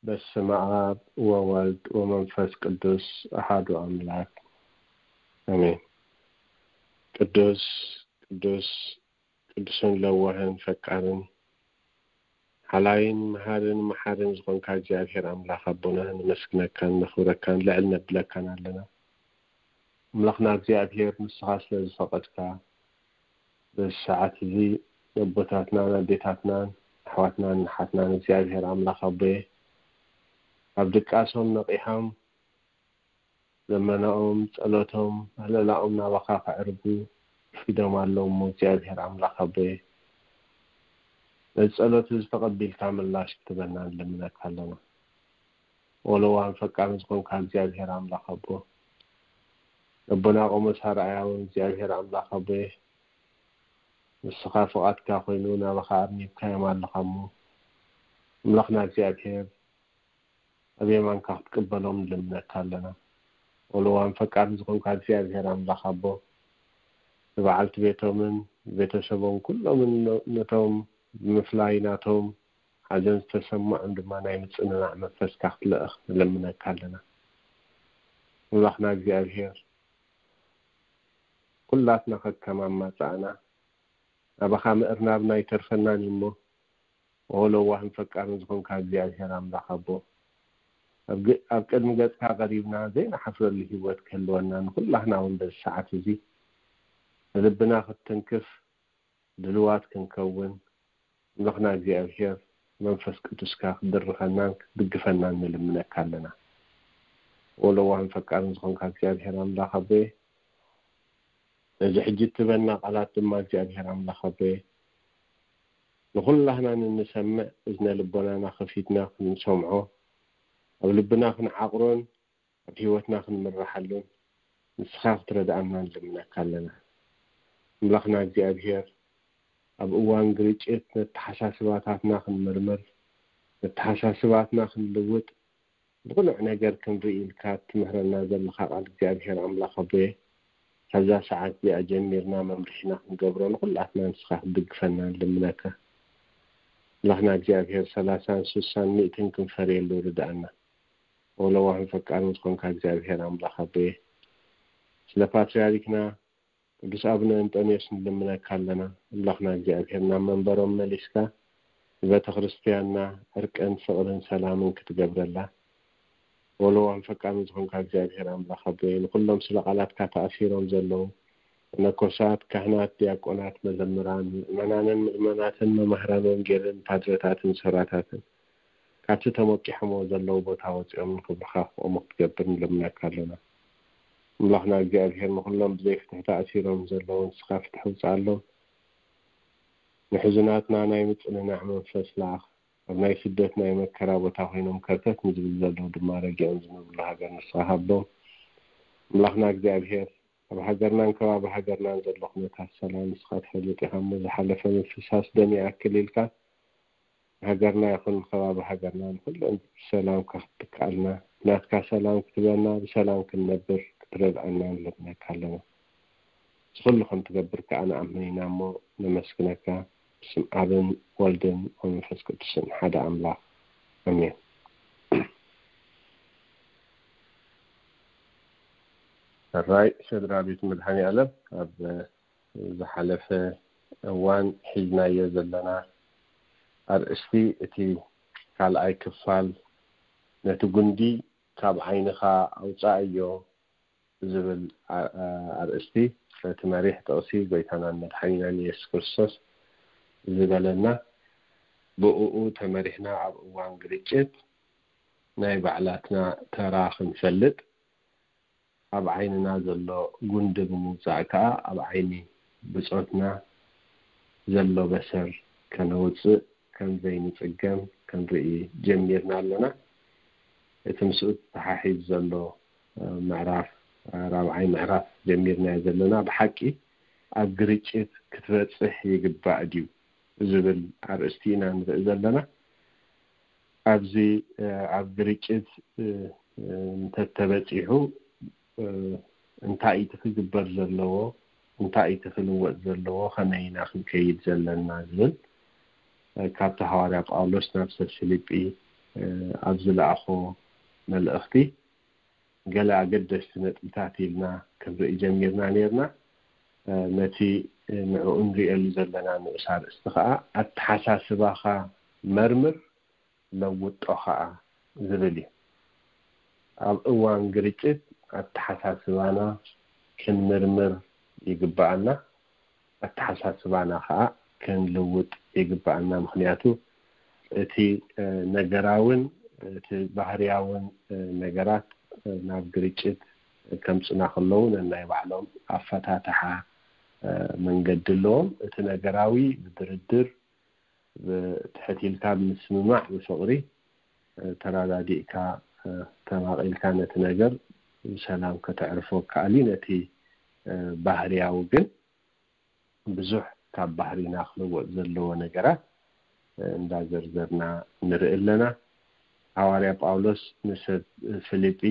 በስመ አብ ወወልድ ወመንፈስ ቅዱስ አሐዱ አምላክ አሜን። ቅዱስ ቅዱስ ቅዱስን ለዋህን ፈቃርን ሓላይን መሃርን መሓርን ዝኾንካ እግዚኣብሔር ኣምላኽ ኣቦና፣ ነመስግነካን ነኽብረካን ልዕል ነብለካን ኣለና። ኣምላኽና እግዚኣብሔር፣ ንስኻ ስለ ዝፈቐድካ፣ በዚ ሰዓት እዚ ነቦታትናን ኣዴታትናን ኣሕዋትናን ኣሓትናን እግዚኣብሔር ኣምላኽ ኣቦየ፣ ኣብ ድቃሶም ነቒሖም፣ ልመናኦም፣ ጸሎቶም፣ ምህለላኦም ናባኻ ከዕርጉ ኣርፊዶም ኣለዉ እሞ፣ እግዚኣብሔር ኣምላኽ ኣቦየ፣ ነዚ ጸሎት እዚ ተቐቢልካ ምላሽ ክትበና ንልምነካ ኣለና። ወለዋን ፈቃርን ዝኾንካ እግዚኣብሔር ኣምላኽ ኣቦ፣ ኣቦና ቆሞስ ኣርኣያ እውን እግዚኣብሔር ኣምላኽ ኣቦየ፣ ንስኻ ፍቓድካ ኮይኑ ናባኻ ኣርኒብካዮም ኣለኻ እሞ፣ ኣምላኽና እግዚኣብሔር፣ ኣብ የማንካ ክትቅበሎም ንልምነካ ኣለና። ወለዋን ፈቃርን ዝኾንካ እግዚኣብሔር ኣምላኽ ኣቦ፣ ንበዓልቲ ቤቶምን ቤተሰቦም ኩሎምን ነ-፣ ነቶም ብምፍላይ ናቶም ሓዘን ዝተሰምዖም ድማ ናይ ምጽንናዕ መንፈስካ ክትልእኽ ንልምነካ ኣለና። ኣምላኽና እግዚኣብሔር፣ ኩላትና ከከም ኣማጻእና ናባኻ ምእርናብና ኣይተርፈናን እዩ እሞ፣ ኦ ለዋህን ፈቃርን ዝኾንካ እግዚኣብሔር ኣምላኽ ኣቦ፣ ኣብ ግ-፣ ኣብ ቅድሚ ገጽካ ቀሪብና ዘይንሓፍረሉ ህይወት ክህልወና፣ ንኹላህና እውን በዚ ሰዓት እዚ ንልብና ክትትንክፍ ድልዋት ክንከውን፣ ኣምላኽና እግዚኣብሔር መንፈስ ቅዱስካ ክትድርኸናን ክትድግፈናን ንልምነካ ኣለና። ኦ ለዋህን ፈቃርን ዝኾንካ እግዚኣብሔር ኣምላኽ ኣቦየ፣ ነዚ ሕጂ እትበና ቃላት ድማ እግዚኣብሔር ኣምላኽ ኣቦየ፣ ንኹላህና ንንሰምዕ እዝነ ልቦናና ከፊትና ክንሰምዖ፣ ኣብ ልብና ክንዓቕሮን ኣብ ህይወትና ክንምርሓሉን ንስኻ ክትረድኣና ንልምነካ ኣለና። ኣምላኽና እግዚኣብሔር፣ ኣብ እዋን ግርጭት ነተሓሳስባታትና ክንምርምር፣ ነተሓሳስባትና ክንልውጥ፣ ብቕኑዕ ነገር ክንርኢ ኢልካ እትምህረና ዘለኻ ቃል እግዚኣብሔር ኣምላኽ ኣቦየ፣ ካብዛ ሰዓት እዚኣ ጀሚርና መምርሒና ክንገብሮ ንኹላትና ንስኻ ክትድግፈና ንልምነካ። ኣምላኽና እግዚኣብሔር፣ ሰላሳን ስሳን ሚእትን ክንፈርየሉ ርድኣና። ወለዋህን ፈቃርን ዝኾንካ እግዚኣብሔር ኣምላኽ ኣቦየ፣ ስለ ፓትርያርክና ቅዱስ ኣቡነ እንጠንዮስ ንልምነካ ኣለና። ኣምላኽና እግዚኣብሔር፣ ናብ መንበሮም መሊስካ ንቤተ ክርስትያንና ዕርቅን ፍቕርን ሰላምን ክትገብረላ። ወለዋህን ፈቃርን ዝኾንካ እግዚኣብሔር ኣምላኽ ኣቦየ፣ ንኹሎም ስለ ቃላትካ ተኣሲሮም ዘለዉ መነኮሳት፣ ካህናት፣ ዲያቆናት፣ መዘምራን፣ ምእመናንን ምእመናትን፣ መማህራን ወንጌልን ፓድረታትን ሰራታትን፣ ካብቲ ተሞቂሖሞ ዘለዉ ቦታ ወጺኦም ንክብርኻ ክቆሙ ክትገብር ንልምነካ ኣለና። ኣምላኽና እግዚኣብሔር፣ ንኹሎም ብዘይ ፍትሒ ተኣሲሮም ዘለዉ ንስኻ ፍትሒ ውጽኣሎም። ንሕዙናትና ናይ ምጽንናዕ መንፈስ ለኣኽ። ኣብ ናይ ስደት ናይ መከራ ቦታ ኮይኖም ከርተት ንዝብል ዘለዉ ድማ ረጊኦም ዝነብርሉ ሃገር ንስኻ ሃቦም። ኣምላኽና እግዚኣብሔር፣ ኣብ ሃገርናን ከባቢ ሃገርናን ዘሎ ኩነታት ሰላም ንስኻ ትፈልጥ ኢኻ እሞ፣ ዝሓለፈ ምፍሳስ ደም ይኣክል ኢልካ፣ ሃገርና ይኹን ከባቢ ሃገርና ንኹለን ብሰላም ክትከኣልና፣ ናትካ ሰላም ክትበና፣ ብሰላም ክንነብር ክትረድኣና ንለምነካ ኣለና። እዚ ኩሉ ከም ትገብር ከኣ ንኣምን ኢና እሞ ነመስግነካ። ብስም ኣብን ወልድን ወመንፈስ ቅዱስን ሓደ ኣምላኽ ኣሜን። ሕራይ ስድራ ቤት መድኃኔ ዓለም፣ ኣብ ዝሓለፈ እዋን ሒዝናዮ ዘለና ኣርእስቲ፣ እቲ ካልኣይ ክፋል፣ ነቲ ጉንዲ ካብ ዓይንኻ ኣውጻኣዮ ዝብል ኣ-፣ ኣ-፣ ኣርእስቲ፣ እቲ መሪሕ ጥቕሲ ጎይታናን መድሓኒናን ኢየሱስ ክርስቶስ ዝበለና፣ ብእኡ ተመሪሕና ኣብ እዋን ግርጭት ናይ ባዕላትና ተራ ክንፈልጥ፣ ኣብ ዓይንና ዘሎ ጉንዲ ብምውጻእ ከኣ ኣብ ዓይኒ ብጾትና ዘሎ በሰር ከነውጽእ ከም ዘይንጽገም ክንርኢ ጀሚርና ኣለና። እቲ ምስኡ ተሓሒዝ ዘሎ ምዕራፍ ራብዓይ ምዕራፍ ጀሚርናዮ ዘለና ብሓቂ ኣብ ግርጭት ክትበጽሕ ይግባእ ድዩ ዝብል ኣርእስቲ ኢና ንርኢ ዘለና። ኣብዚ ኣብ ግርጭት እንተተበጺሑ እንታይ እቲ ክግበር ዘለዎ፣ እንታይ እቲ ክልወጥ ዘለዎ፣ ከመይ ኢና ክንከይድ ዘለና ዝብል ካብቲ ሃዋርያ ጳውሎስ ናብ ሰብ ፊልጲ ኣብ ዝለኣኾ መልእኽቲ ገለ ኣገደስቲ ነጥብታት ኢልና ክንርኢ ጀሚርና ነርና። ነቲ ንዕኡ ንርእየሉ ዘለና ንኡስ ኣርእስቲ ከኣ ኣተሓሳስባኻ መርምር ለውጦ ከኣ ዝብል እዩ። ኣብ እዋን ግርጭት ኣተሓሳስባና ክንምርምር ይግብኣና። ኣተሓሳስባና ከኣ ክንልውጥ ይግብኣና። ምኽንያቱ እቲ ነገራውን እቲ ባህርያውን ነገራት ናብ ግርጭት ከምጽና ከለዉ ነናይ ባዕሎም ኣፈታትሓ መንገዲ ኣለዎም። እቲ ነገራዊ ብድርድር ትሕት ኢልካ ብምስምማዕ ብፍቕሪ ተረዳዲእካ ተማቒልካ ነቲ ነገር ብሰላም ከተዕርፎ ከኣል እዩ። ነቲ ባህርያዊ ግን ብዙሕ ካብ ባህሪና ክልወጥ ዘለዎ ነገራት እንዳዘርዘርና ንርኢ ኣለና። ሃዋርያ ጳውሎስ ንሰብ ፊልጲ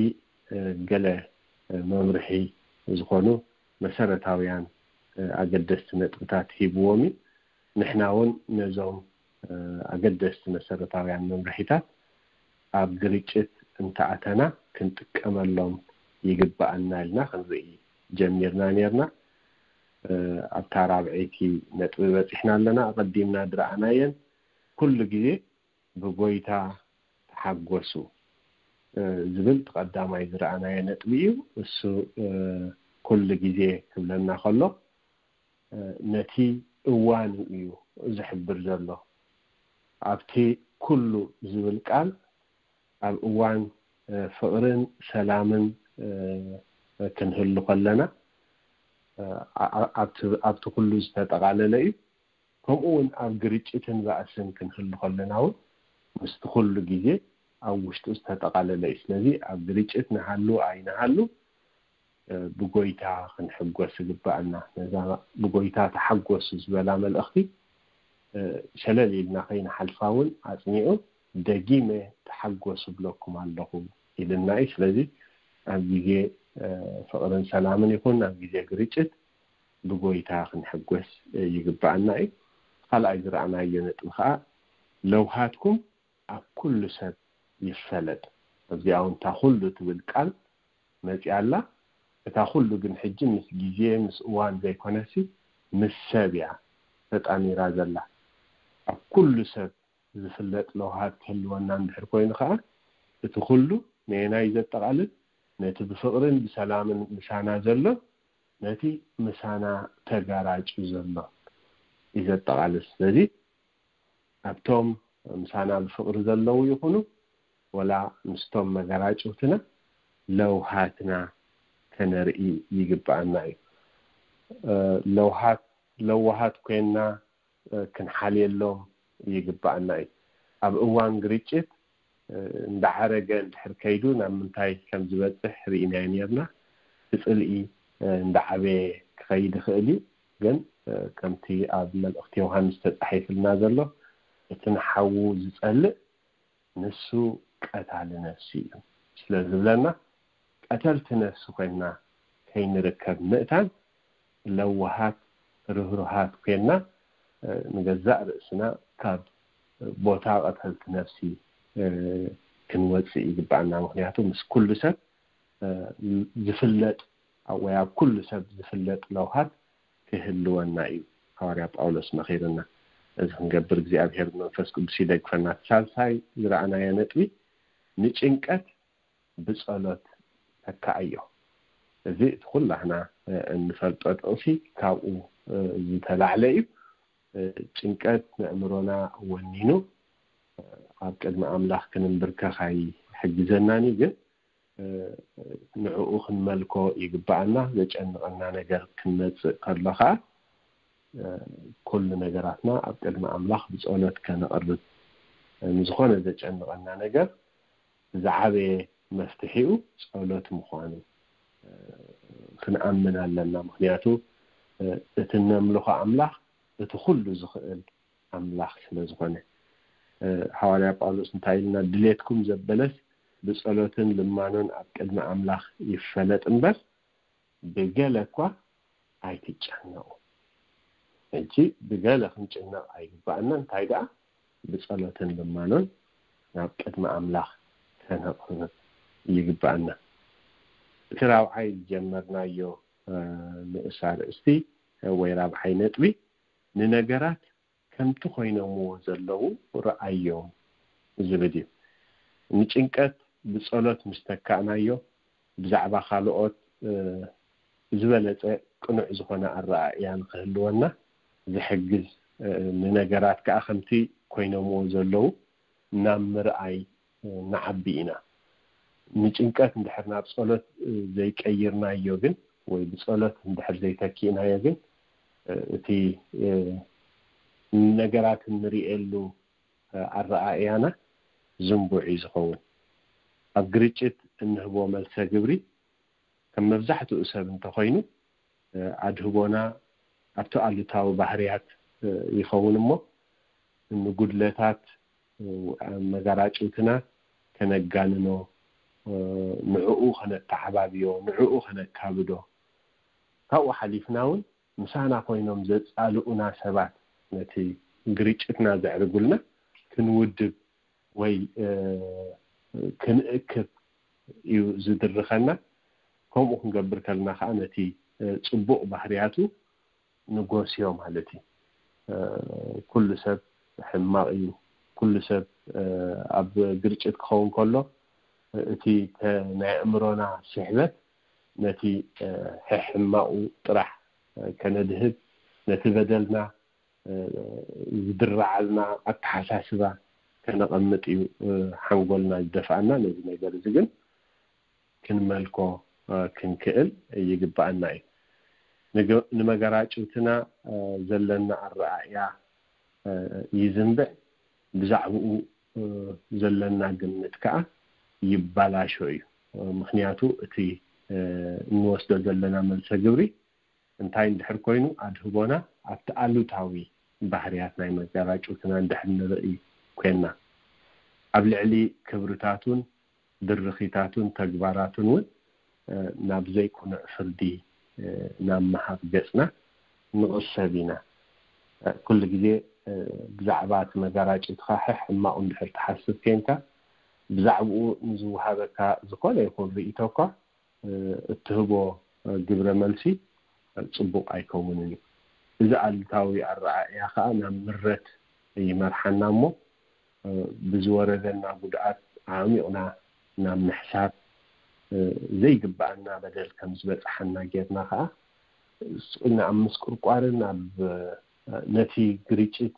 ገለ መምርሒ ዝኾኑ መሰረታውያን ኣገደስቲ ነጥብታት ሂብዎም እዩ። ንሕና እውን ነዞም ኣገደስቲ መሰረታውያን መምርሒታት ኣብ ግርጭት እንተኣተና ክንጥቀመሎም ይግብኣና ኢልና ክንርኢ ጀሚርና ነርና። ኣብታ ራብዐይቲ ነጥቢ በጺሕና ኣለና። ኣቐዲምና ዝረኣናየን ኩሉ ግዜ ብጎይታ ተሓጎሱ ዝብል ቀዳማይ ዝረኣናዮ ነጥቢ እዩ። እሱ ኩሉ ግዜ ክብለና ከሎ ነቲ እዋን እዩ ዝሕብር ዘሎ። ኣብቲ ኩሉ ዝብል ቃል ኣብ እዋን ፍቕርን ሰላምን ክንህሉ ከለና ኣብቲ ኩሉ ዝተጠቓለለ እዩ። ከምኡ እውን ኣብ ግርጭትን ባእስን ክንህሉ ከለና እውን ምስቲ ኩሉ ግዜ ኣብ ውሽጡ ዝተጠቓለለ እዩ። ስለዚ ኣብ ግርጭት ንሃሉ ኣይንሃሉ ብጎይታ ክንሕጎስ ይግብኣና። ነዛ ብጎይታ ተሓጎሱ ዝበላ መልእኽቲ ሸለል ኢልና ከይንሓልፋ እውን ኣጽኒዑ ደጊመ ተሓጎሱ ብለኩም ኣለኹ ኢልና እዩ። ስለዚ ኣብ ግዜ ፍቕርን ሰላምን ይኹን ኣብ ግዜ ግርጭት ብጎይታ ክንሕጎስ ይግብኣና እዩ። ካልኣይ ዝረኣናዮ ነጥቢ ከዓ ለውሃትኩም ኣብ ኩሉ ሰብ ይፈለጥ። ኣብዚኣ እውን እታ ኩሉ ትብል ቃል መፂኣ ኣላ። እታ ኩሉ ግን ሕጂ ምስ ግዜ ምስ እዋን ዘይኮነሲ ምስ ሰብ እያ ተጣሚራ ዘላ። ኣብ ኩሉ ሰብ ዝፍለጥ ለውሃት ክህልወና እንድሕር ኮይኑ ከዓ እቲ ኩሉ ነየናይ ዘጠቓልል? ነቲ ብፍቕርን ብሰላምን ምሳና ዘሎ፣ ነቲ ምሳና ተጋራጩ ዘሎ እዩ ዘጠቓልል። ስለዚ ኣብቶም ምሳና ብፍቕሪ ዘለዉ ይኹኑ ወላ ምስቶም መገራጭውትና ለውሃትና ከነርኢ ይግብኣና እዩ። ለውሃት ለዋሃት ኮይና ክንሓልየሎም ይግብኣና እዩ። ኣብ እዋን ግርጭት እንዳዓረገ እንድሕር ከይዱ ናብ ምንታይ ከም ዝበፅሕ ርኢናዮ ነርና። እቲ ፅልኢ እንዳዓበየ ክኸይድ ይኽእል እዩ። ግን ከምቲ ኣብ መልእኽቲ ዮሃንስ ተፃሒፍልና ዘሎ እቲ ንሓዉ ዝፀልእ ንሱ ቀታሊ ነፍሲ እዩ ስለ ዝብለና ቀተልቲ ነፍሲ ኮይንና ከይንርከብ ምእታን ለዋሃት ርህሩሃት ኮይንና ንገዛእ ርእስና ካብ ቦታ ቀተልቲ ነፍሲ ክንወፅእ ይግባኣና። ምክንያቱ ምስ ኩሉ ሰብ ዝፍለጥ ወይ ኣብ ኩሉ ሰብ ዝፍለጥ ለውሃት ክህልወና እዩ ሃዋርያ ጳውሎስ መኺርና። እዚ ክንገብር እግዚኣብሔር መንፈስ ቅዱስ ይደግፈና። ሳልሳይ ዝረኣናዮ ነጥቢ ንጭንቀት ብጸሎት ተካኣዮ። እዚ እቲ ኩላህና እንፈልጦ ጥቕሲ ካብኡ ዝተላዕለ እዩ። ጭንቀት ንእምሮና ወኒኑ ኣብ ቅድሚ ኣምላኽ ክንንብርከኽ ኣይሕግዘናን እዩ። ግን ንዕኡ ክንመልኮ ይግብኣና። ዘጨንቐና ነገር ክንመፅእ ከሎ ከዓ ኩሉ ነገራትና ኣብ ቅድሚ ኣምላኽ ብጸሎት ከነቕርብ፣ ንዝኾነ ዘጨንቐና ነገር ዝዓበየ መፍትሒኡ ጸሎት ምዃኑ ክንኣምን ኣለና። ምኽንያቱ እቲ እነምልኾ ኣምላኽ እቲ ኩሉ ዝኽእል ኣምላኽ ስለ ዝኾነ። ሃዋርያ ጳውሎስ እንታይ ኢልና? ድሌትኩም ዘበለስ ብጸሎትን ልማኖን ኣብ ቅድሚ ኣምላኽ ይፈለጥ እምበር ብገለ እኳ ኣይትጨነቑ። ሕጂ ብገለ ክንጭነቕ ኣይግባኣና። እንታይ ደኣ? ብጸሎትን ልማኖን ናብ ቅድሚ ኣምላኽ ከነቕርብ ይግባኣና። እቲ ራብዓይ ዝጀመርናዮ ንእስ ኣርእስቲ ወይ ራብዓይ ነጥቢ፣ ንነገራት ከምቲ ኮይኖምዎ ዘለዉ ረኣዮም ዝብል እዩ። ንጭንቀት ብጸሎት ምስ ተካእናዮ፣ ብዛዕባ ካልኦት ዝበለጸ ቅኑዕ ዝኾነ ኣረኣእያ ንኽህልወና ዝሕግዝ፣ ንነገራት ከኣ ከምቲ ኮይኖምዎ ዘለዉ ናብ ምርኣይ ንዓቢ ኢና። ንጭንቀት እንድሕር ናብ ጸሎት ዘይቀይርናዮ ግን፣ ወይ ብጸሎት እንድሕር ዘይተኪእናዮ ግን፣ እቲ ነገራት እንርእየሉ ኣረኣእያና ዝንቡዕ እዩ ዝኸውን። ኣብ ግርጭት እንህቦ መልሰ ግብሪ ከም መብዛሕትኡ ሰብ እንተኾይኑ፣ ኣድህቦና ኣብቲ ኣሉታዊ ባህርያት ይኸውን እሞ፣ ንጉድለታት መጋራጭውትና ከነጋንኖ፣ ንዕኡ ከነተዓባብዮ፣ ንዕኡ ከነካብዶ፣ ካብኡ ሓሊፍና እውን ምሳና ኮይኖም ዘጻልኡና ሰባት ነቲ ግርጭትና ዘዕርጉልና ክንውድብ ወይ ክንእክብ እዩ ዝድርኸና። ከምኡ ክንገብር ከለና ከዓ ነቲ ጽቡቕ ባህርያቱ ንጎስዮ ማለት እዩ። ኩሉ ሰብ ሕማቕ እዩ። ኩሉ ሰብ ኣብ ግርጭት ክኸውን ከሎ እቲ ናይ ኣእምሮና ስሕበት ነቲ ሕማቑ ጥራሕ ከነድህብ፣ ነቲ በደልና ዝድረዓልና ኣተሓሳስባ ከነቐምጥ እዩ ሓንጎልና ዝደፍኣና። ነዚ ነገር እዚ ግን ክንመልኮ ክንክእል ይግባኣና እዩ። ንመገራጭውትና ዘለና ኣረኣእያ ይዝንብዕ፣ ብዛዕባኡ ዘለና ግምት ከዓ ይባላሾ እዩ። ምክንያቱ እቲ እንወስዶ ዘለና መልሰ ግብሪ እንታይ እንድሕር ኮይኑ ኣድህቦና ኣብቲ ኣሉታዊ ባህርያት ናይ መጋራጭውትና እንድሕር ንርኢ ኮይንና፣ ኣብ ልዕሊ ክብርታቱን ድርኺታቱን ተግባራቱን እውን ናብ ዘይቁኑዕ ፍርዲ ናብ ምሃብ ገጽና ንቕሰብ ኢና። ኩሉ ግዜ ብዛዕባ እቲ መጋራጭውትኻ ሕማቑ እንድሕር ትሓስብ ኮይንካ፣ ብዛዕባኡ ንዝወሃበካ ዝኾነ ይኹን ርእይቶ እኳ እትህቦ ግብረ መልሲ ጽቡቕ ኣይከውንን እዩ። እዚ ኣሉታዊ ኣረኣእያ ከኣ ናብ ምረት ይመርሓና እሞ፣ ብዝወረደና ጉድኣት ኣዕሚቕና ናብ ምሕሳብ፣ ዘይግባኣና በደል ከም ዝበጽሓና ጌርና ከኣ ስቕ ኢልና ኣብ ምስቁርቋርን ኣብ ነቲ ግርጭት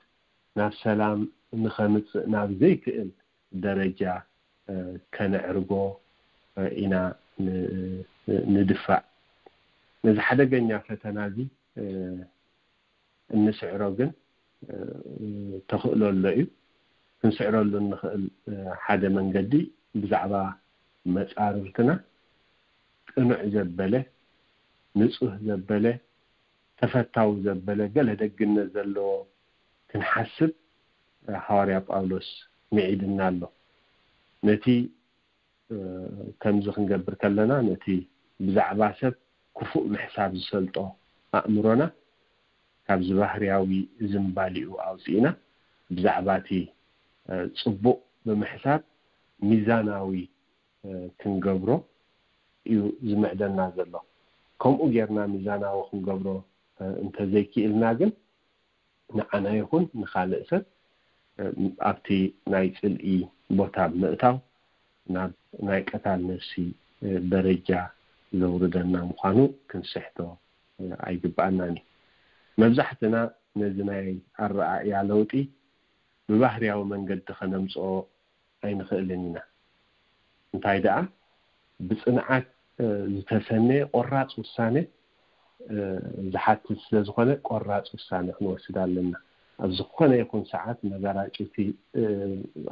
ናብ ሰላም ንኸምጽእ ናብ ዘይክእል ደረጃ ከነዕርጎ ኢና ንድፋእ። ነዚ ሓደገኛ ፈተና እዚ እንስዕሮ ግን ተኽእሎ ኣሎ እዩ። ክንስዕረሉ እንኽእል ሓደ መንገዲ ብዛዕባ መጻርርትና ቅኑዕ ዘበለ፣ ንጹህ ዘበለ፣ ተፈታዊ ዘበለ፣ ገለ ደግነት ዘለዎ ክንሓስብ ሃዋርያ ጳውሎስ ምዒድና ኣሎ። ነቲ ከምዚ ክንገብር ከለና፣ ነቲ ብዛዕባ ሰብ ክፉእ ምሕሳብ ዝሰልጦ ኣእምሮና ካብዚ ባህርያዊ ዝንባሊኡ ኣውፂእና፣ ብዛዕባ እቲ ፅቡቕ ብምሕሳብ ሚዛናዊ ክንገብሮ እዩ ዝምዕደና ዘሎ። ከምኡ ጌርና ሚዛናዊ ክንገብሮ እንተዘይክኢልና ግን፣ ንዓና ይኹን ንኻልእ ሰብ ኣብቲ ናይ ጽልኢ ቦታ ብምእታው ናብ ናይ ቀታል ነፍሲ ደረጃ ዘውርደና ምዃኑ ክንስሕቶ ኣይግባኣናን እዩ። መብዛሕትና ነዚ ናይ ኣረኣእያ ለውጢ ብባህርያዊ መንገዲ ከነምጽኦ ኣይንኽእልን ኢና። እንታይ ደኣ፣ ብጽንዓት ዝተሰነየ ቆራጽ ውሳነ ዝሓትት ስለ ዝኾነ ቆራፅ ውሳነ ክንወስድ ኣለና። ኣብ ዝኾነ ይኹን ሰዓት መገራጭቲ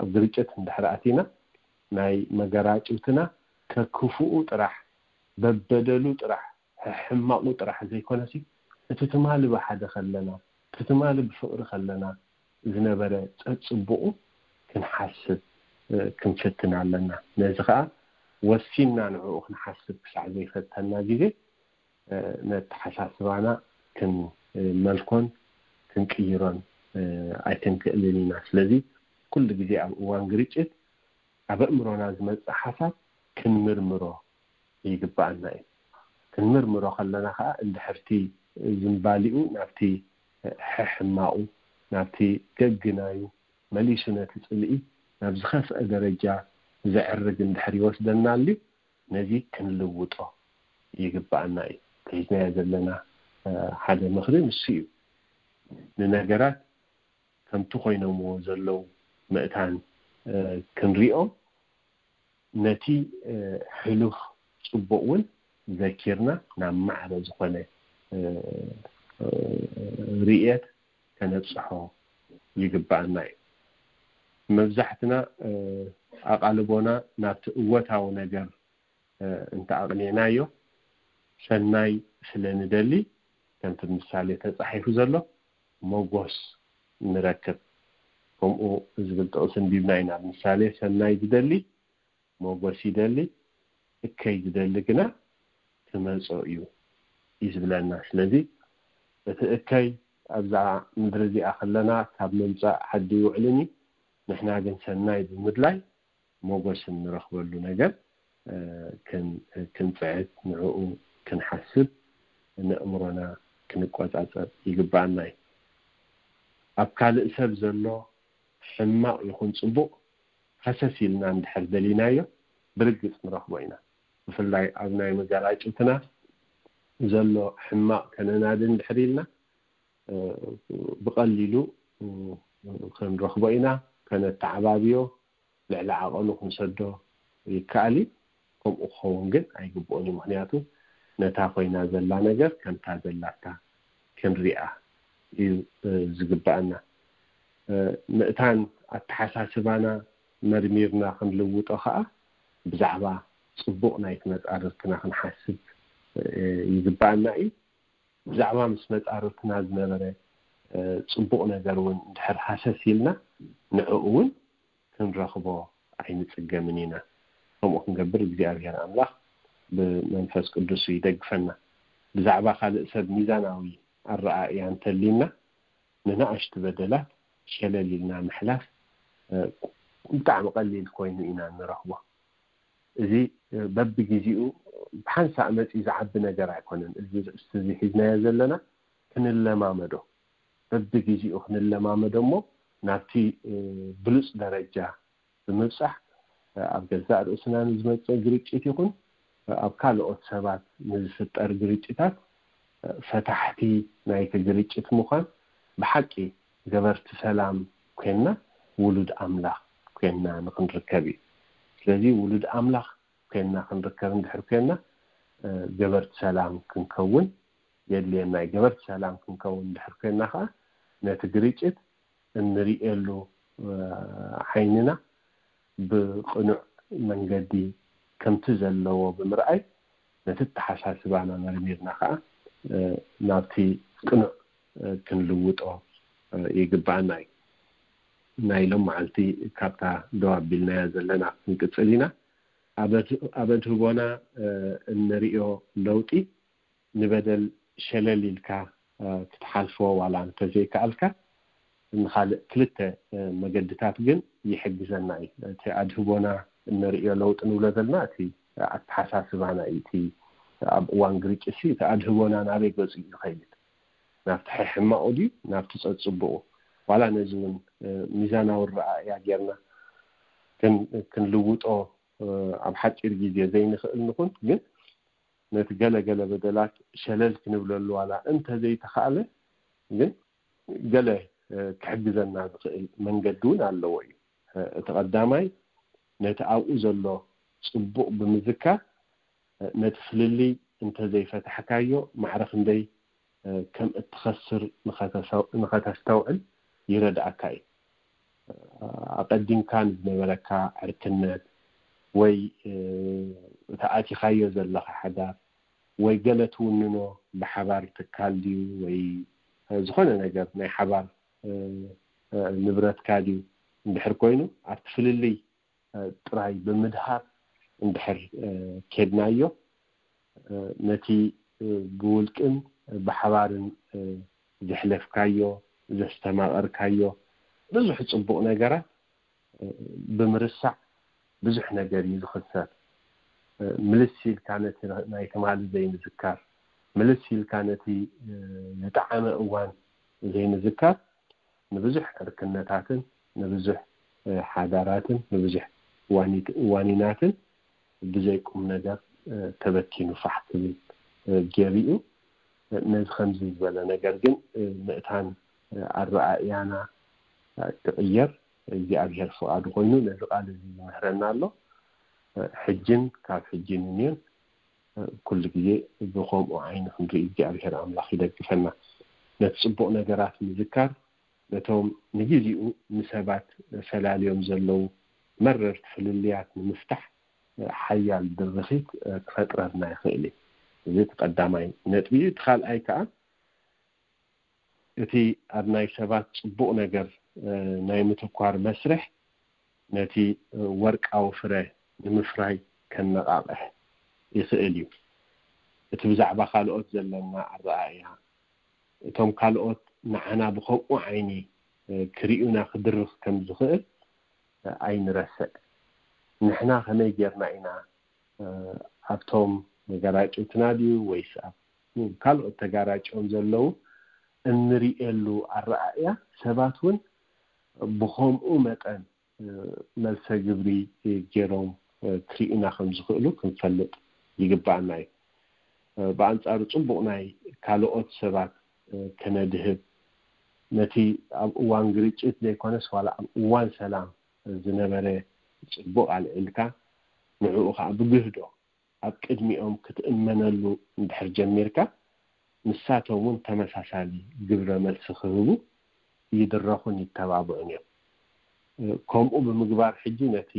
ኣብ ግርጭት እንድሕር ኣቲና ናይ መገራጭውትና ከክፉኡ ጥራሕ በበደሉ ጥራሕ ሕማቁ ጥራሕ ዘይኮነሲ እቲ ትማሊ ብሓደ ከለና እቲ ትማሊ ብፍቅሪ ከለና ዝነበረ ፀፅቡቁ ክንሓስብ ክንፍትን ኣለና። ነዚ ከዓ ወሲንና ንዕኡ ክንሓስብ ክሳዕ ዘይፈተና ግዜ ነተሓሳስባና ክንመልኮን ክንቅይሮን ኣይክንክእልን ኢና። ስለዚ ኩሉ ግዜ ኣብ እዋን ግርጭት ኣብ ኣእምሮና ዝመፅእ ሓሳብ ክንምርምሮ ይግባኣና እዩ። ክንምርምሮ ከለና ከዓ እንድሕርቲ ዝንባሊኡ ናብቲ ሕሕማቁ ናብቲ ገግናዩ መሊሱ ነቲ ፅልኢ ናብ ዝኸፍአ ደረጃ ዘዕርግ እንድሕር ይወስደና ኣልዩ ነዚ ክንልውጦ ይግባኣና እዩ። ተሒዝናዮ ዘለና ሓደ ምኽሪ ንሱ እዩ። ንነገራት ከምቲ ኮይኖምዎ ዘለዉ ምእታን ክንሪኦም ነቲ ሕሉፍ ፅቡቅ እውን ዘኪርና ናብ ማዕረ ዝኾነ ርእየት ከነብፅሖ ይግባኣና እዩ። መብዛሕትና ኣቓልቦና ናብቲ እወታዊ ነገር እንተ ኣቕኒዕናዮ ሰናይ ስለ ንደሊ ከምቲ ምሳሌ ተፃሒፉ ዘሎ ሞጎስ ንረክብ። ከምኡ ዝብል ጥቕሲ እንዲብና ኢና። ምሳሌ ሰናይ ዝደሊ ሞጎስ ይደሊ፣ እከይ ዝደሊ ግና ክመጾ እዩ እዩ ዝብለና። ስለዚ እቲ እከይ ኣብዛ ምድሪ እዚኣ ከለና ካብ ምምጻእ ሓዲ ይውዕልን እዩ። ንሕና ግን ሰናይ ብምድላይ ሞጎስ እንረኽበሉ ነገር ክንፅዕት ንዕኡ ክንሓስብ ንእምሮና ክንቆፃፀር ይግባኣና እዩ። ኣብ ካልእ ሰብ ዘሎ ሕማቕ ይኹን ፅቡቕ ሃሰስ ኢልና እንድሕር ደሊናዮ ብርግፅ ንረኽቦ ኢና። ብፍላይ ኣብ ናይ መጋራጭትና ዘሎ ሕማቕ ከነናዲ እንድሕር ኢልና ብቐሊሉ ክንረኽቦ ኢና። ከነተዓባብዮ ልዕሊ ዓቐኑ ክንሰዶ ይከኣል እዩ። ከምኡ ክኸውን ግን ኣይግብኦን እዩ። ምክንያቱ ነታ ኮይና ዘላ ነገር ከምታ ዘላታ ክንሪኣ እዩ ዝግባኣና። ምእታን ኣተሓሳስባና መርሚርና ክንልውጦ ከዓ ብዛዕባ ፅቡቕ ናይቲ መፃርርትና ክንሓስብ ይግባኣና እዩ። ብዛዕባ ምስ መፃርርትና ዝነበረ ፅቡቕ ነገር እውን እንድሕር ሃሰስ ኢልና ንዕኡ እውን ክንረኽቦ ኣይንፅገምን ኢና። ከምኡ ክንገብር እግዚኣብሔር ኣምላኽ ብመንፈስ ቅዱሱ ይደግፈና። ብዛዕባ ካልእ ሰብ ሚዛናዊ ኣረኣእያ እንተሊና ንናእሽቱ በደላት ሸለል ኢልና ምሕላፍ ብጣዕሚ ቀሊል ኮይኑ ኢና ንረኽቦ። እዚ በብግዜኡ ብሓንሳእ መፂኡ ዝዓቢ ነገር ኣይኮነን። እዚ ርእስቲ እዚ ሒዝናዮ ዘለና ክንለማመዶ በብግዜኡ ክንለማመዶ እሞ ናብቲ ብሉፅ ደረጃ ብምብፃሕ ኣብ ገዛእ ርእስና ንዝመፅእ ግርጭት ይኹን ኣብ ካልኦት ሰባት ንዝፍጠር ግርጭታት ፈታሕቲ ናይቲ ግርጭት ምዃን ብሓቂ ገበርቲ ሰላም ኮይንና ውሉድ ኣምላኽ ኮይንና ንክንርከብ እዩ። ስለዚ ውሉድ ኣምላኽ ኮይንና ክንርከብ እንድሕር ኮይንና ገበርቲ ሰላም ክንከውን የድልየና እዩ። ገበርቲ ሰላም ክንከውን እንድሕር ኮይንና ከዓ ነቲ ግርጭት እንርእየሉ ዓይንና ብቕኑዕ መንገዲ ከምቲ ዘለዎ ብምርኣይ ነቲ ተሓሳስባና መርሚርና ከዓ ናብቲ ቅኑዕ ክንልውጦ ይግባኣና እዩ። ናይ ሎም መዓልቲ ካብታ ደው ኣቢልናያ ዘለና ክንቅፅል ኢና። ኣብ ኣድህቦና እንርእዮ ለውጢ ንበደል ሸለል ኢልካ ክትሓልፎ ዋላ እንተዘይከኣልካ ንካልእ ክልተ መገድታት ግን ይሕግዘና እዩ። እቲ ኣድህቦና እንርእዮ ለውጢ ንብሎ ዘለና እቲ ኣተሓሳስባና እዩ። እቲ ኣብ እዋን ግርጭት እቲ ኣድህቦና ናበይ ገፁ እዩ ዝኸይድ? ናብቲ ሕሕማቑ ድዩ ናብቲ ፀፅቡቑ? ዋላ ነዚ እውን ሚዛናዊ ረኣእያ ጌርና ክንልውጦ ኣብ ሓፂር ግዜ ዘይንኽእል ንኹን ግን ነቲ ገለ ገለ በደላት ሸለል ክንብለሉ ዋላ እንተዘይተኻእለ ግን ገለ ክሕግዘና ዝኽእል መንገዲ እውን ኣለዎ እዩ። እቲ ቀዳማይ ነቲ ኣብኡ ዘሎ ፅቡቕ ብምዝካር ነቲ ፍልልይ እንተዘይፈታሕካዮ ማዕረ ክንደይ ከም እትኸስር ንኸተስተውዕል ይረድኣካ እዩ። ኣቐዲምካ ንዝነበረካ ዕርክነት ወይ እቲ ኣቲኻዮ ዘለኻ ሓዳር ወይ ገለ ትውንኖ ብሓባር ትካል ድዩ ወይ ዝኾነ ነገር ናይ ሓባር ንብረትካ ድዩ እንድሕር ኮይኑ ኣብቲ ፍልልይ ጥራይ ብምድሃር እንድሕር ኬድናዮ ነቲ ብውልቅን ብሓባርን ዘሕለፍካዮ ዘስተማቐርካዮ ብዙሕ ፅቡቕ ነገራት ብምርሳዕ ብዙሕ ነገር እዩ ዝኽሰር። ምልስ ኢልካ ነቲ ናይ ትማሊ ዘይምዝካር፣ ምልስ ኢልካ ነቲ ዝጠዓመ እዋን ዘይምዝካር ንብዙሕ ዕርክነታትን ንብዙሕ ሓዳራትን ንብዙሕ ዋኒናትን ብዘይ ቁም ነገር ተበቲኑ ፋሕ ክብል ገይሩ እዩ። ነዚ ከምዚ ዝበለ ነገር ግን ምእታን ኣረኣእያና ክቕየር እግዚኣብሔር ፍቓዱ ኮይኑ ነዚ ቃል እዚ ይምህረና ኣሎ። ሕጅን ካብ ሕጂ ንንዮን ኩሉ ግዜ ብኸምኡ ዓይኒ ክንርኢ እግዚኣብሔር ኣምላኽ ይደግፈና። ነቲ ጽቡቕ ነገራት ምዝካር ነቶም ንግዜኡ ንሰባት ፈላልዮም ዘለዉ መረርቲ ፍልልያት ንምፍታሕ ሓያል ድርኺት ክፈጥረልና ይኽእል እዩ። እዚ እቲ ቀዳማይ ነጥቢ እዩ። እቲ ካልኣይ ከዓ እቲ ኣብ ናይ ሰባት ጽቡቕ ነገር ናይ ምትኳር መስርሕ ነቲ ወርቃዊ ፍረ ንምፍራይ ከነቓቕሕ ይኽእል እዩ። እቲ ብዛዕባ ካልኦት ዘለና ኣረኣእያ እቶም ካልኦት ንዓና ብኸምኡ ዓይኒ ክርእዩና ክድርኽ ከም ዝኽእል ኣይንረስዕ። ንሕና ከመይ ጌርና ኢና ኣብቶም ተጋራጭትና ድዩ ወይስ ኣብ ካልኦት ተጋራጭዮም ዘለዉ እንርእየሉ ኣረኣእያ ሰባት እውን ብኸምኡ መጠን መልሰ ግብሪ ገይሮም ክርእዩና ከም ዝኽእሉ ክንፈልጥ ይግባኣና እዩ። ብኣንጻሩ ጽቡቕ ናይ ካልኦት ሰባት ከነድህብ ነቲ ኣብ እዋን ግርጭት ዘይኮነስ ዋላ ኣብ እዋን ሰላም ዝነበረ ጽቡቕ ኣልዒልካ ንዕኡ ከዓ ብግህዶ ኣብ ቅድሚኦም ክትእመነሉ እንድሕር ጀሚርካ ንሳቶም እውን ተመሳሳሊ ግብረ መልሲ ክህቡ ይድረኹን ይተባብዑን እዮም። ከምኡ ብምግባር ሕጂ ነቲ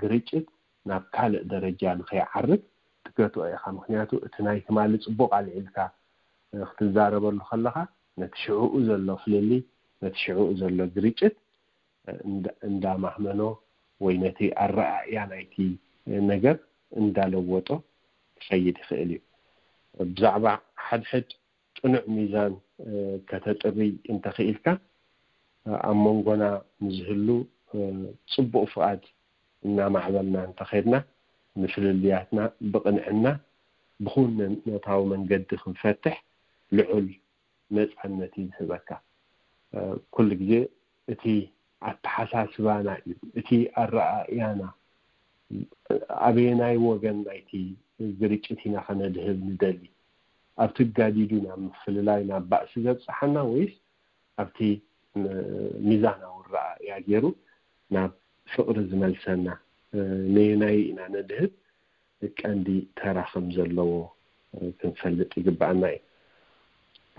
ግርጭት ናብ ካልእ ደረጃ ንኸይዓርግ ትገትኦ ኢኻ። ምክንያቱ እቲ ናይ ትማሊ ጽቡቕ ኣልዒልካ ክትዛረበሉ ከለኻ ነቲ ሽዕኡ ዘሎ ፍልልይ ነቲ ሽዕኡ ዘሎ ግርጭት እንዳማህመኖ ወይ ነቲ ኣረኣእያ ናይቲ ነገር እንዳለወጦ ክኸይድ ይኽእል እዩ። ብዛዕባ ሓድሕድ ቅኑዕ ሚዛን ከተጥሪ እንተኽኢልካ ኣብ መንጎና ንዝህሉ ጽቡቕ ፍቓድ እናማዕበልና እንተኸድና ንፍልልያትና ብቕንዕና ብኹነታዊ መንገዲ ክንፈትሕ ልዑል ነፃነት እዩ ዝህበካ። ኩሉ ግዜ እቲ ኣተሓሳስባና እዩ እቲ ኣረኣእያና ኣበየናይ ወገን ናይቲ ግርጭት ኢና ከነድህብ ንደሊ ኣብቲ ጋዲዱ ናብ ምፍልላይ ናብ ባእሲ ዘብፅሓና ወይስ ኣብቲ ሚዛናዊ ኣረኣእያ ገይሩ ናብ ፍቕሪ ዝመልሰና ነየናይ ኢና ነድህብ ቀንዲ ተራ ከም ዘለዎ ክንፈልጥ ይግባኣና እዩ።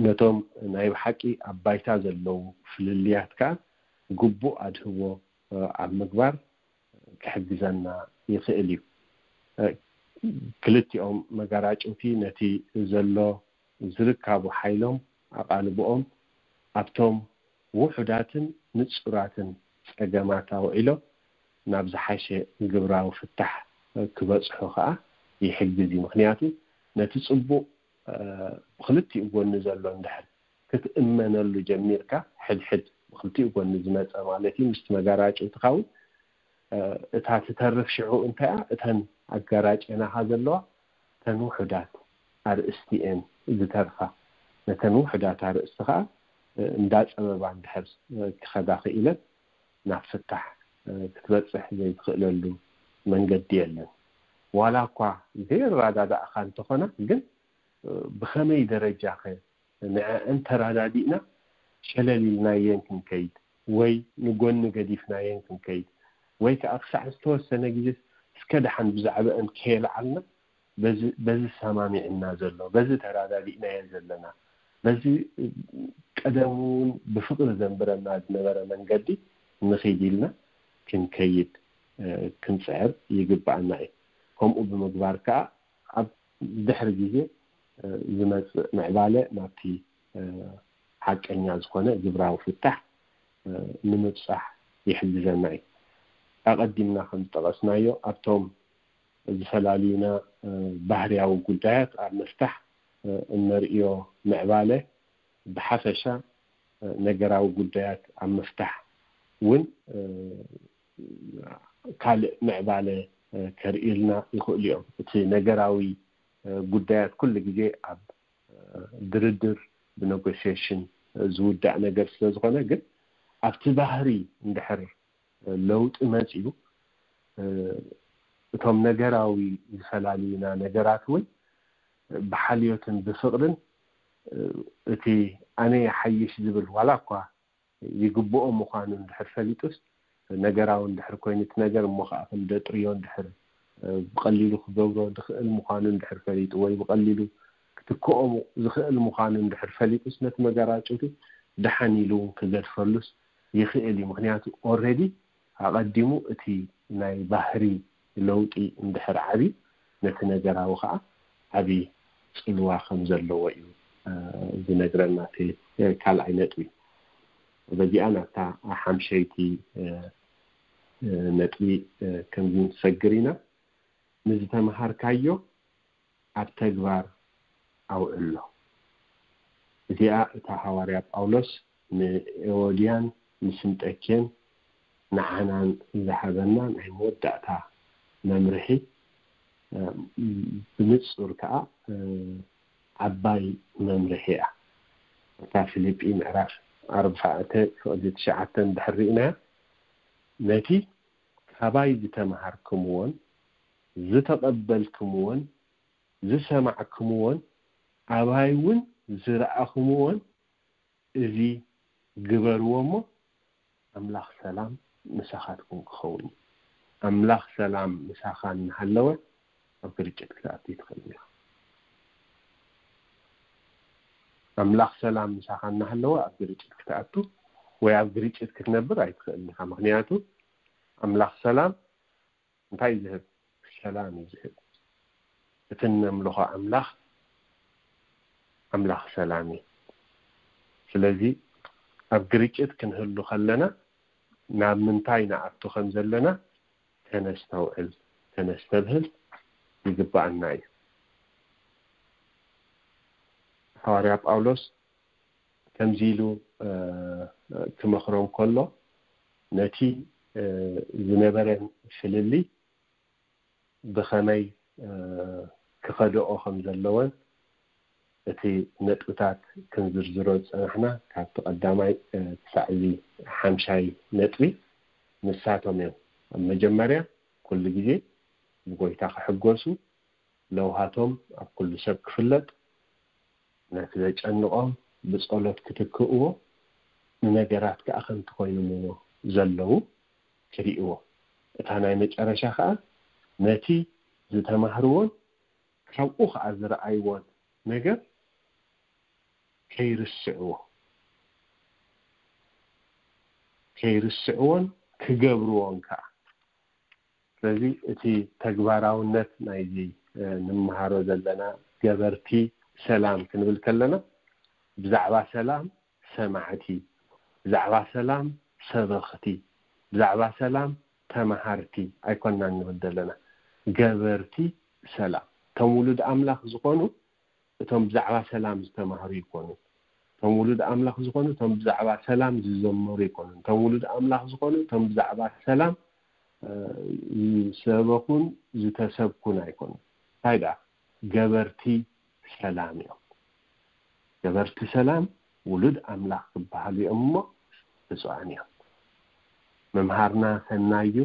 ነቶም ናይ ብሓቂ ኣብ ባይታ ዘለዉ ፍልልያት ከዓ ግቡእ ኣድህቦ ኣብ ምግባር ክሕግዘና ይኽእል እዩ። ክልቲኦም መጋራጭውቲ ነቲ ዘሎ ዝርካቡ ሓይሎም ኣቓልብኦም ኣብቶም ውሑዳትን ንጹራትን ጸገማት ኣውዒሎም ናብ ዝሓሸ ግብራዊ ፍታሕ ክበጽሑ ከኣ ይሕግዝ እዩ። ምኽንያቱ ነቲ ጽቡቕ ብኽልቲኡ ጎኒ ዘሎ እንድሕር ክትእመነሉ ጀሚርካ ሕድሕድ ብኽልቲኡ ጎኒ ዝመጸ ማለት እዩ ምስቲ መጋራጭ እንትኸውን እታ ትተርፍ ሽዑ እንታይኣ እተን ኣጋራጭናኻ ዘለዋ እተን ውሑዳት ኣርእስቲ እየን ዝተርፋ። ነተን ውሑዳት ኣርእስቲ ከዓ እንዳፀበባ እንድሕር ክኸዳ ክኢለን ናብ ፍታሕ ክትበፅሕ ዘይትኽእለሉ መንገዲ የለን። ዋላ እኳ ዘይረዳዳእኻ እንተኾና ግን ብኸመይ ደረጃኸ ንዐአን ተራዳዲእና ሸለል ኢልናየን ክንከይድ ወይ ንጎኒ ገዲፍናየን ክንከይድ ወይ ከዓ ክሳዕ ዝተወሰነ ግዜ እስከ ደሓን ብዛዕባአን ከየልዓልና በዚ ሰማሚዕና ዘሎ፣ በዚ ተራዳዲእናዮ ዘለና፣ በዚ ቀደም እውን ብፍቕሪ ዘንብረና ዝነበረ መንገዲ ንኺድ ኢልና ክንከይድ ክንፅዕር ይግባኣና እዩ። ከምኡ ብምግባር ከዓ ኣብ ድሕሪ ግዜ ዝመፅእ ምዕባለ ናብቲ ሓቀኛ ዝኾነ ግብራዊ ፍታሕ ንምብፃሕ ይሕግዘና እዩ። ኣቐዲምና ከም ዝጠቐስናዮ ኣብቶም ዝፈላልዩና ባህርያዊ ጉዳያት ኣብ ምፍታሕ እነርእዮ ምዕባለ ብሓፈሻ ነገራዊ ጉዳያት ኣብ ምፍታሕ እውን ካልእ ምዕባለ ከርእዩልና ይኽእሉ እዮም። እቲ ነገራዊ ጉዳያት ኩሉ ግዜ ኣብ ድርድር ብኔጎሽዬሽን ዝውዳእ ነገር ስለ ዝኾነ፣ ግን ኣብቲ ባህሪ እንድሕር ለውጢ መፂኡ እቶም ነገራዊ ዝፈላልዩና ነገራት እውን ብሓልዮትን ብፍቕርን እቲ ኣነ ይሓይሽ ዝብል ዋላ እኳ ይግብኦ ምዃኑ እንድሕር ፈሊጡስ ነገራዊ እንድሕር ኮይኑ እቲ ነገር እሞ ከዓ ከም ደጥርዮ እንድሕር ብቐሊሉ ክገብሮ ዝኽእል ምዃኑ እንድሕር ፈሊጡ ወይ ብቐሊሉ ክትክኦ ዝኽእል ምዃኑ እንድሕር ፈሊጡስ ነቲ መጋራጭቱ ደሓን ኢሉ እውን ክገድፈሉስ ይኽእል እዩ። ምክንያቱ ኦረዲ ኣቐዲሙ እቲ ናይ ባህሪ ለውጢ እንድሕር ዓብዩ ነቲ ነገራዊ ከዓ ዓብዪ ፅልዋ ከም ዘለዎ እዩ ዝነግረና እቲ ካልኣይ ነጥቢ። በዚኣ ናብታ ሓምሸይቲ ነጥቢ ከም ንሰግር ኢና። ንዝተምሃርካዮ ኣብ ተግባር ኣውዕሎ። እዚኣ እታ ሃዋርያ ጳውሎስ ንኤዎድያን ንስንጠኬን ንዓናን ዝሃበና ናይ መወዳእታ መምርሒ ብንጹር ከኣ ዓባይ መምርሒ እያ። እታ ፊልጲ ምዕራፍ ኣርባዕተ ፍቕዲ ትሽዓተ እንድሕር ርኢናያ ነቲ ካባይ ዝተምሃርክምዎን ዝተቐበልክምዎን ዝሰማዕክምዎን ኣባይ እውን ዝረኣኽምዎን እዚ ግበርዎ እሞ ኣምላኽ ሰላም ምሳኻትኩም ክኸውን እዩ። ኣምላኽ ሰላም ምሳኻ እናሃለወ ኣብ ግርጭት ክትኣቱ ይትኽእል ኢኻ። ኣምላኽ ሰላም ምሳኻ እናሃለወ ኣብ ግርጭት ክትኣቱ ወይ ኣብ ግርጭት ክትነብር ኣይትኽእል ኢኻ። ምክንያቱ ኣምላኽ ሰላም እንታይ ዝህብ? ሰላም እዩ ዝህብ። እቲ እነምልኾ ኣምላኽ ኣምላኽ ሰላም እዩ። ስለዚ ኣብ ግርጭት ክንህሉ ከለና ናብ ምንታይ ንኣቱ ከም ዘለና ከነስተውዕል ከነስተብህል ይግባኣና እዩ። ሃዋርያ ጳውሎስ ከምዚ ኢሉ ክመኽሮም ከሎ ነቲ ዝነበረን ፍልልይ ብኸመይ ክኸድኦ ከም ዘለወን እቲ ነጥብታት ክንዝርዝሮ ዝጸናሕና ካብቲ ቀዳማይ ክሳዕ እዚ ሓምሻይ ነጥቢ ንሳቶም እዮም። ኣብ መጀመርያ ኩሉ ግዜ ብጎይታ ክሕጎሱ፣ ለውሃቶም ኣብ ኩሉ ሰብ ክፍለጥ፣ ነቲ ዘጨንቖም ብጸሎት ክትክእዎ፣ ንነገራት ከኣ ከምቲ ኮይኖምዎ ዘለዉ ክርእይዎ። እታ ናይ መጨረሻ ከኣ ነቲ ዝተማህርዎን ካብኡ ከኣ ዝረኣይዎን ነገር ከይርስዕዎ ከይርስዕዎን ክገብርዎን ከኣ። ስለዚ እቲ ተግባራውነት ናይዚ ንምሃሮ ዘለና ገበርቲ ሰላም ክንብል ከለና ብዛዕባ ሰላም ሰማዕቲ፣ ብዛዕባ ሰላም ሰበኽቲ፣ ብዛዕባ ሰላም ተማሃርቲ ኣይኮናን ንብል ዘለና፣ ገበርቲ ሰላም። እቶም ውሉድ ኣምላኽ ዝኾኑ እቶም ብዛዕባ ሰላም ዝተማህሩ ይኮኑ። እቶም ውሉድ ኣምላኽ ዝኾኑ እቶም ብዛዕባ ሰላም ዝዘመሩ ይኮኑ። እቶም ውሉድ ኣምላኽ ዝኾኑ እቶም ብዛዕባ ሰላም ዝሰበኹን ዝተሰብኩን ኣይኮኑ። እንታይ ደኣ? ገበርቲ ሰላም እዮም። ገበርቲ ሰላም ውሉድ ኣምላኽ ክበሃሉ እዮም እሞ ብፁዓን እዮም። ምምሃርና ሰናይ እዩ፣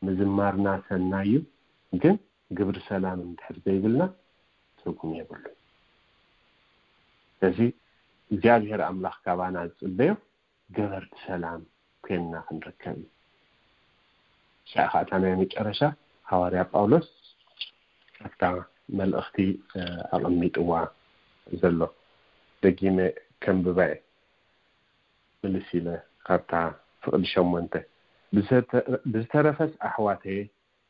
ምዝማርና ሰናይ እዩ፣ ግን ግብሪ ሰላም እንድሕር ዘይብልና ትርጉም የብሉ። ስለዚ እግዚኣብሔር ኣምላኽ ካባና ዝፅበዮ ገበርቲ ሰላም ኮይንና ክንርከብ እዩ። ሳዕ ከኣታ ናይ መጨረሻ ሃዋርያ ጳውሎስ ኣብታ መልእኽቲ ኣቐሚጥዋ ዘሎ። ደጊመ ከንብባ እየ። ምልስ ኢለ ካብታ ፍቕዲ ሸሞንተ። ብዝተረፈስ ኣሕዋተየ፣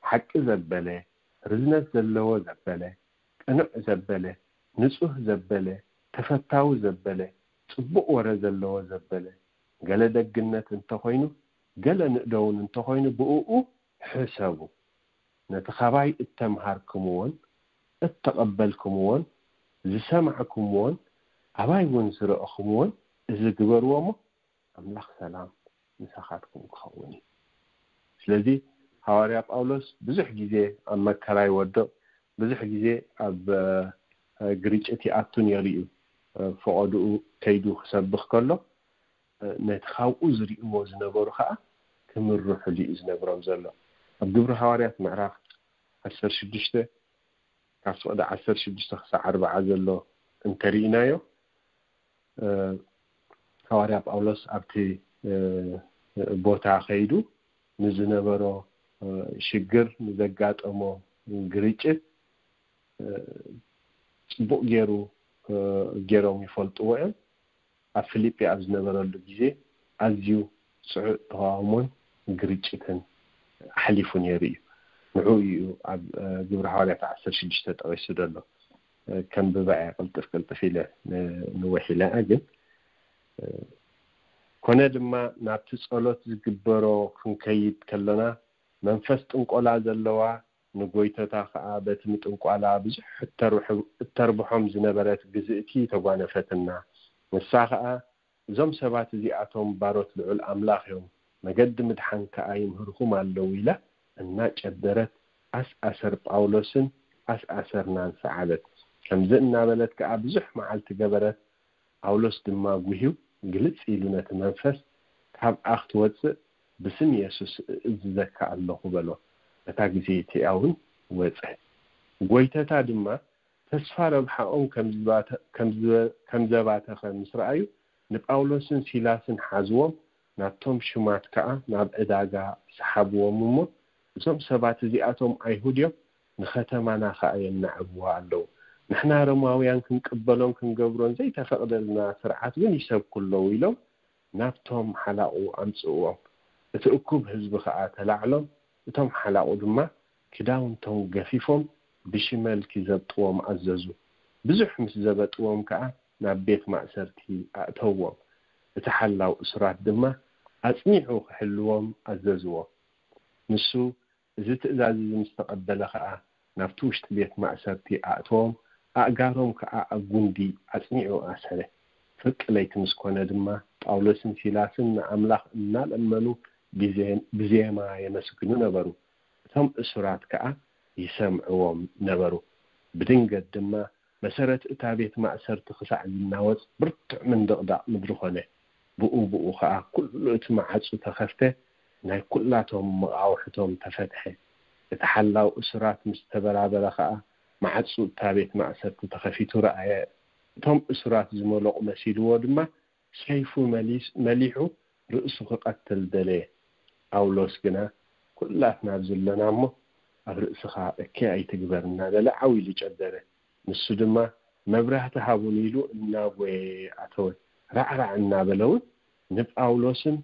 ሓቂ ዘበለ፣ ርዝነት ዘለዎ ዘበለ፣ ቅኑዕ ዘበለ፣ ንጹህ ዘበለ፣ ተፈታዊ ዘበለ፣ ጽቡቕ ወረ ዘለዎ ዘበለ፣ ገለ ደግነት እንተኾይኑ፣ ገለ ንእደውን እንተኾይኑ፣ ብእኡ ሕሰቡ። ነቲ ኻባይ እተምሃርክምዎን እተቐበልክምዎን ዝሰማዕክምዎን ኣባይ እውን ዝረእኽምዎን እዚ ግበርዎ እሞ ኣምላኽ ሰላም ምሳኻትኩም ክኸውን እዩ። ስለዚ ሃዋርያ ጳውሎስ ብዙሕ ግዜ ኣብ መከራ ይወድቕ፣ ብዙሕ ግዜ ኣብ ግርጭት ይኣቱ ነይሩ እዩ። ፈቐድኡ ከይዱ ክሰብኽ ከሎ ነቲ ካብኡ ዝርእይዎ ዝነበሩ ከዓ ክምርሕሉ እዩ ዝነግሮም ዘሎ። ኣብ ግብሪ ሃዋርያት ምዕራፍ ዓሰርተ ሽዱሽተ ካብ ፍቕዲ ዓሰርተ ሽዱሽተ ክሳዕ ኣርባዓ ዘሎ እንተርኢናዮ፣ ሃዋርያ ጳውሎስ ኣብቲ ቦታ ከይዱ ንዝነበሮ ሽግር፣ ንዘጋጠሞ ግርጭት ጽቡቕ ገይሩ ገይሮም ይፈልጥዎ እዮም። ኣብ ፊልጲ ኣብ ዝነበረሉ ግዜ ኣዝዩ ጽዑቕ ተቓውሞን ግርጭትን ኣሕሊፉ ነይሩ እዩ። ንዕኡ እዩ ኣብ ግብሪ ሃዋርያት ዓሰርተ ሽዱሽተ ጠቒሱ ዘሎ። ከንብባ እየ ቅልጥፍ ቅልጥፍ ኢለ፣ ንውሕ ኢለ እየ ግን። ኮነ ድማ ናብቲ ጸሎት ዝግበሮ ክንከይድ ከለና መንፈስ ጥንቆላ ዘለዋ ንጎይተታ ከኣ በቲ ምጥንቋላ ብዙሕ እተርብሖም ዝነበረት ግዝእቲ ተጓነፈትና። ንሳ ከኣ እዞም ሰባት እዚኣቶም ባሮት ልዑል ኣምላኽ እዮም፣ መገዲ ምድሓን ከኣ ይምህርኹም ኣለዉ ኢላ እናጨደረት ኣስኣሰር ጳውሎስን ኣስኣሰርናን ሰዓበት። ከምዚ እናበለት ከኣ ብዙሕ መዓልቲ ገበረት። ጳውሎስ ድማ ጉህዩ ግልጽ ኢሉ ነቲ መንፈስ፣ ካብኣ ክትወጽእ ብስም የሱስ እእዝዘካ ኣለኹ በሎ። በታ ግዜ እቲኣ እውን ወጸ። ጎይተታ ድማ ተስፋ ረብሓኦም ከም ዘባተኸ ምስ ረኣዩ ንጳውሎስን ሲላስን ሓዝዎም፣ ናብቶም ሽማት ከኣ ናብ ዕዳጋ ሰሓብዎም እሞ፣ እዞም ሰባት እዚኣቶም ኣይሁድ እዮም፣ ንኸተማና ከኣ የናዕብዋ ኣለዉ። ንሕና ሮማውያን ክንቅበሎን ክንገብሮን ዘይተፈቕደልና ስርዓት እውን ይሰብኩ ኣለዉ ኢሎም ናብቶም ሓላቑ ኣምጽእዎም። እቲ እኩብ ህዝቢ ከኣ ተላዕሎም፣ እቶም ሓላቑ ድማ ክዳውንቶም ገፊፎም ብሽመል ኪዘብጥዎም ኣዘዙ። ብዙሕ ምስ ዘበጥዎም ከኣ ናብ ቤት ማእሰርቲ ኣእተውዎም። እቲ ሓላው እሱራት ድማ ኣጽኒዑ ክሕልዎም ኣዘዝዎ። ንሱ እዚ ትእዛዝ እዚ ምስ ተቐበለ ኸኣ ናብቲ ውሽጢ ቤት ማእሰርቲ ኣእተዎም፣ ኣእጋሮም ከኣ ኣብ ጉንዲ ኣጽኒዑ ኣሰረ። ፍርቂ ለይቲ ምስ ኮነ ድማ ጳውሎስን ሲላስን ንኣምላኽ እናለመኑ ብዜማ የመስግኑ ነበሩ። እቶም እሱራት ከኣ ይሰምዕዎም ነበሩ። ብድንገት ድማ መሰረት እታ ቤት ማእሰርቲ ክሳዕ ዝናወጽ ብርቱዕ ምንድቕዳቕ ምድሪ ኾነ። ብኡ ብኡ ኸኣ ኩሉ እቲ መዓጹ ተኸፍተ፣ ናይ ኩላቶም መቓውሕቶም ተፈትሐ። እቲ ሓላው እሱራት ምስ ተበራበረ ኸኣ መዓጹ እታ ቤት ማእሰርቲ ተኸፊቱ ረኣየ። እቶም እሱራት ዝመለቑ መሲልዎ ድማ ሰይፉ መሊስ-፣ መሊሑ ርእሱ ክቐትል ደለየ። ጳውሎስ ግና ኩላትና ኣብዚ ኣለና እሞ ኣብ ርእስኻ እከይ ኣይትግበር እናበለ ዓው ኢሉ ጨደረ። ንሱ ድማ መብራህቲ ሃቡኒ ኢሉ እናጎየ ኣተወ። ራዕራዕ እናበለ እውን ንጳውሎስን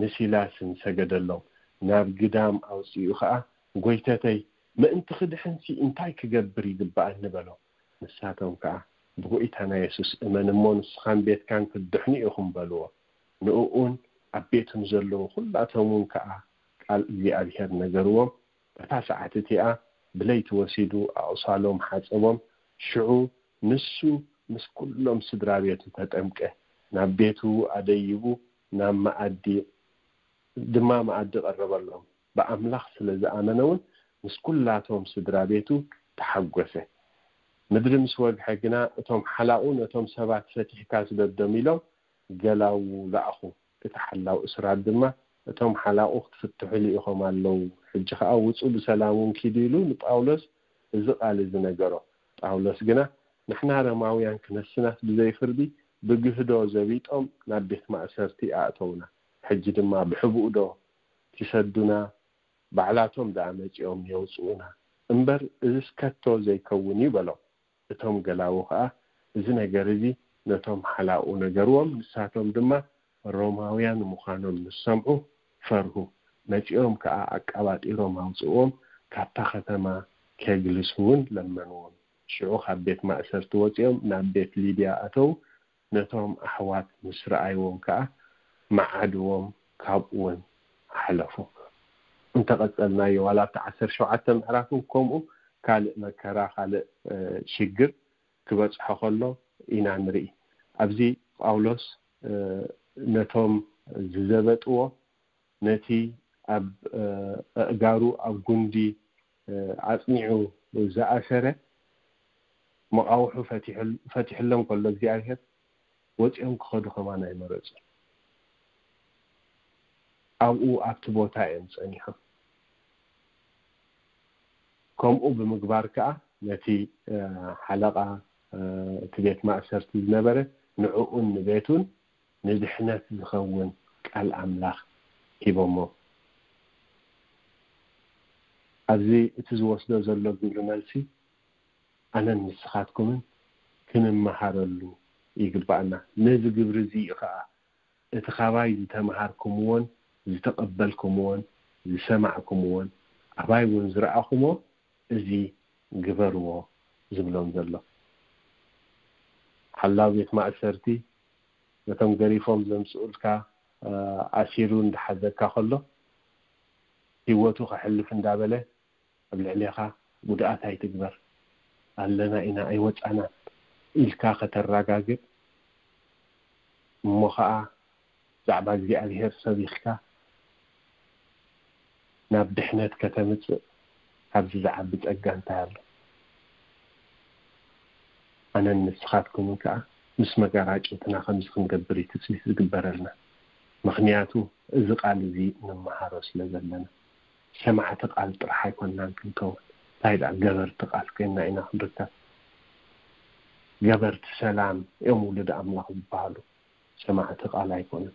ንሲላስን ሰገደሎም። ናብ ግዳም ኣውፂኡ ኸዓ ጎይተተይ ምእንቲ ክድሕንሲ እንታይ ክገብር ይግብኣኒ በሎ። ንሳቶም ከኣ ብጎይታና የሱስ እመን እሞ ንስኻን ቤትካን ክትድሕኑ ኢኹም በልዎ። ንእኡን ኣብ ቤቱ ንዘለዉ ኩላቶም እውን ከኣ ቃል እግዚኣብሔር ነገርዎም። በታ ሰዓት እቲኣ ብለይቲ ወሲዱ ኣቑሳሎም ሓጸቦም። ሽዑ ንሱ ምስ ኩሎም ስድራ ቤቱ ተጠምቀ። ናብ ቤቱ ኣደይቡ ናብ መኣዲ ድማ መኣዲ ቀረበሎም። ብኣምላኽ ስለ ዝኣመነ እውን ምስ ኩላቶም ስድራ ቤቱ ተሓጎሰ። ምድሪ ምስ ወግሐ ግና እቶም ሓላቑ ነቶም ሰባት ፈቲሕካ ስደዶም ኢሎም ገላዉ ለኣኹ። እቲ ሓላው እስራት ድማ እቶም ሓላቑ ክትፍትሑ ልኢኾም ኣለዉ፣ ሕጂ ኸኣ ውጹ ብሰላም እውን ኪዱ ኢሉ ንጳውሎስ እዚ ቃል እዚ ነገሮ። ጳውሎስ ግና ንሕና ረማውያን ክነስናስ ብዘይ ፍርዲ ብግህዶ ዘቢጦም ናብ ቤት ማእሰርቲ ኣእተውና። ሕጂ ድማ ብሕቡእ ዶ ኪሰዱና? ባዕላቶም ደኣ መጺኦም የውጽኡና። እምበር እዝስ ከቶ ዘይከውን እዩ በሎም። እቶም ገላዉ ኸኣ እዚ ነገር እዚ ነቶም ሓላቑ ነገርዎም። ንሳቶም ድማ ሮማውያን ምዃኖም ምስ ሰምዑ ፈርሁ። መጺኦም ከኣ ኣቃባጢሮም ኣውጽእዎም፣ ካብታ ኸተማ ኬግልስ እውን ለመንዎም። ሽዑ ካብ ቤት ማእሰርቲ ወጺኦም ናብ ቤት ሊድያ ኣተዉ። ነቶም ኣሕዋት ምስ ረኣይዎም ከኣ መዓድዎም ካብኡ እውን ሓለፉ። እንተቐጸልናዮ ዋላ ኣብቲ ዓሰርተ ሸውዓተ ምዕራፍ እውን ከምኡ ካልእ መከራ ካልእ ሽግር ክበጽሖ ከሎ ኢና ንርኢ። ኣብዚ ጳውሎስ ነቶም ዝዘበጥዎ ነቲ ኣብ ኣእጋሩ ኣብ ጉንዲ ኣጽኒዑ ዝኣሰረ መቓውሑ ፈቲሕሎም ከሎ እግዚኣብሔር ወፂኦም ክኸዱ ከማን ኣይመረፁ። ኣብኡ ኣብቲ ቦታ እዮም ፀኒሖም። ከምኡ ብምግባር ከዓ ነቲ ሓለቓ እቲ ቤት ማእሰርቲ ዝነበረ ንዕኡን ንቤቱን ንድሕነት ዝኸውን ቃል ኣምላኽ ሂቦሞ። ኣብዚ እቲ ዝወስዶ ዘሎ ግብሪ መልሲ ኣነን ንስኻትኩምን ክንመሃረሉ ይግባኣና። ነዚ ግብሪ እዚ እዩ ከዓ እቲ ካባይ ዝተምሃርኩምዎን ዝተቐበልኩምዎን ዝሰማዕኩምዎን ኣባይ እውን ዝረኣኹሞ እዚ ግበርዎ ዝብሎም ዘሎ። ሓላው ቤት ማእሰርቲ ነቶም ገሪፎም ዘምፅኡልካ ኣሲሩ እንዳሓዘካ ከሎ ህይወቱ ከሕልፍ እንዳበለ ኣብ ልዕሌኻ ጉድኣት ኣይትግበር፣ ኣለና ኢና ኣይወፃናን ኢልካ ከተረጋግጥ እሞ ከዓ ዛዕባ እግዚኣብሔር ሰቢኽካ ናብ ድሕነት ከተምፅእ ካብዚ ዝዓቢ ፀጋ እንታይ ኣሎ? ኣነን ንስኻትኩምን ከዓ ምስ መጋራጭትና ከምዚ ክንገብር እዩ ትፅቢት ዝግበረልና። ምኽንያቱ እዚ ቃል እዚ ንመሃሮ ስለ ዘለና። ሰማዕቲ ቃል ጥራሕ ኣይኮንናን ክንከውን፣ እንታይ ደኣ ገበርቲ ቃል ኮይንና ኢና ክንርከብ። ገበርቲ ሰላም እዮም ውሉድ ኣምላኽ ዝበሃሉ፣ ሰማዕቲ ቃል ኣይኮኑን።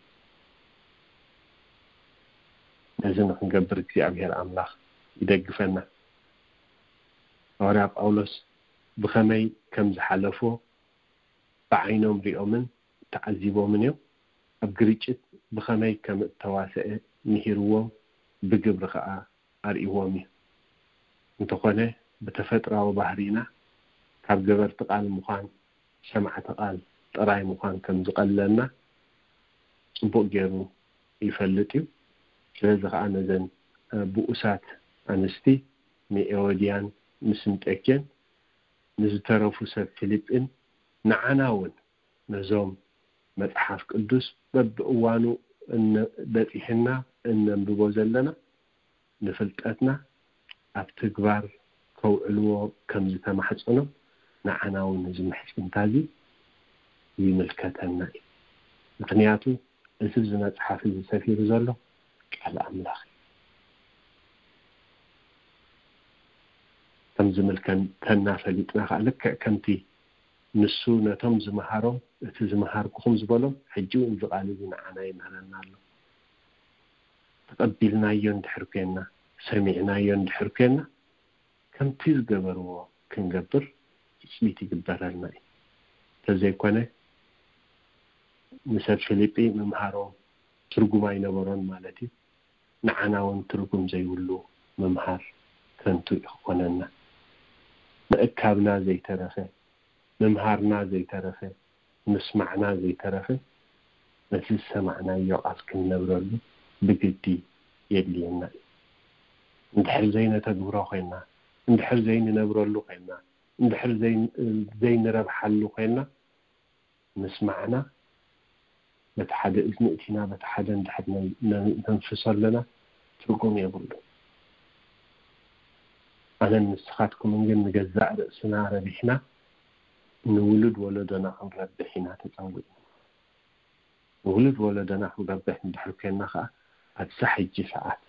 ነዚ ንክንገብር እግዚኣብሔር ኣምላኽ ይደግፈና። ሃዋርያ ጳውሎስ ብኸመይ ከም ዝሓለፎ ብዓይኖም ሪኦምን ተዓዚቦምን እዮም። ኣብ ግርጭት ብኸመይ ከም እተዋሰአ ምሂርዎም፣ ብግብሪ ኸዓ ኣርእይዎም እዩ። እንተኾነ ብተፈጥራዊ ባህሪና ካብ ገበርቲ ቃል ምዃን ሰማዕቲ ቃል ጥራይ ምዃን ከም ዝቐለልና ጽቡቕ ገይሩ ይፈልጥ እዩ። ስለዚ ኸዓ ነዘን ብኡሳት ኣንስቲ ንኤዎድያን ንስንጠኬን ንዝተረፉ ሰብ ፊልጲን ንዓና እውን ነዞም መጽሓፍ ቅዱስ በብእዋኑ በጺሕና እነንብቦ ዘለና ንፍልጠትና ኣብ ትግባር ከውዕልዎ ከም ዝተማሕጸኖም ንዓና እውን እዚ ምሕጽንታ እዚ ይምልከተና እዩ። ምኽንያቱ እቲ እዚ መጽሓፍ እዚ ሰፊሩ ዘሎ ቃል ኣምላኽ እዩ። ከም ዝምልከተና ፈሊጥና ከዓ ልክዕ ከምቲ ንሱ ነቶም ዝመሃሮም እቲ ዝመሃርኩኹም ዝበሎም ሕጂ እውን እዚ ቃል እዚ ንዓና ይምህረና ኣሎ። ተቐቢልናዮ እንድሕር ኮይንና፣ ሰሚዕናዮ እንድሕር ኮይንና ከምቲ ዝገበርዎ ክንገብር ትፅቢት ይግበረልና እዩ። እንተዘይኮነ ንሰብ ፊልጲ ምምሃሮም ትርጉም ኣይነበሮን ማለት እዩ። ንዓና እውን ትርጉም ዘይብሉ ምምሃር ከንቱ እዩ ክኾነና። ምእካብና ዘይተረፈ፣ ምምሃርና ዘይተረፈ፣ ምስማዕና ዘይተረፈ ነቲ ዝሰማዕናዮ ቃል ክንነብረሉ ብግዲ የድልየና እዩ። እንድሕር ዘይነተግብሮ ኮይንና፣ እንድሕር ዘይንነብረሉ ኮይንና፣ እንድሕር ዘይንረብሓሉ ኮይንና ምስማዕና በቲ ሓደ እዝኒ እቲና በቲ ሓደ እንድሕር ነንፍሶ ኣለና ትርጉም የብሉ። ኣነን ንስኻትኩምን ግን ንገዛእ ርእስና ረቢሕና ንውሉድ ወለዶና ክንረብሕ ኢና ተጸዊዕና። ንውሉድ ወለዶና ክንረብሕ እንድሕር ኮይንና ከዓ ኣብዛ ሕጂ ሰዓት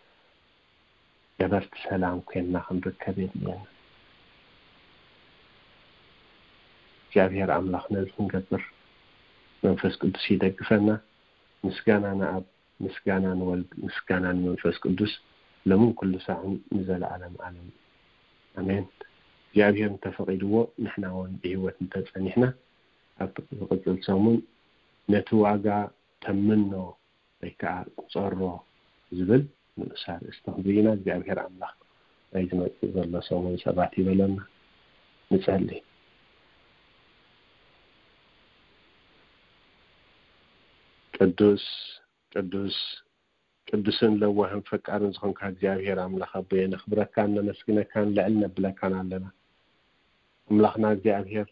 ገበርቲ ሰላም ኮይንና ክንርከብ የድልየና። እግዚኣብሔር ኣምላኽ ነዚ ክንገብር መንፈስ ቅዱስ ይደግፈና። ምስጋና ንኣብ፣ ምስጋና ንወልድ፣ ምስጋና ንመንፈስ ቅዱስ ሎምን ኩሉ ሳዕን ንዘለዓለም ዓለም። ኣሜን። እግዚኣብሔር እንተፈቒድዎ ንሕና እውን ብህይወት እንተጸኒሕና ኣብ ዝቕጽል ሰሙን ነቲ ዋጋ ተምኖ ወይ ከዓ ቁጸሮ ዝብል ንኡስ ኣርእስቲ ክንርኢ ኢና። እግዚኣብሔር ኣምላኽ ናይ ዝመጽእ ዘሎ ሰሙን ሰባት ይበለና። ንጸሊ። ቅዱስ ቅዱስ ቅዱስን ለዋህን ፈቃርን ዝኾንካ እግዚኣብሔር ኣምላኽ ኣቦየ፣ ነኽብረካን ነመስግነካን ልዕል ነብለካን ኣለና። ኣምላኽና እግዚኣብሔር፣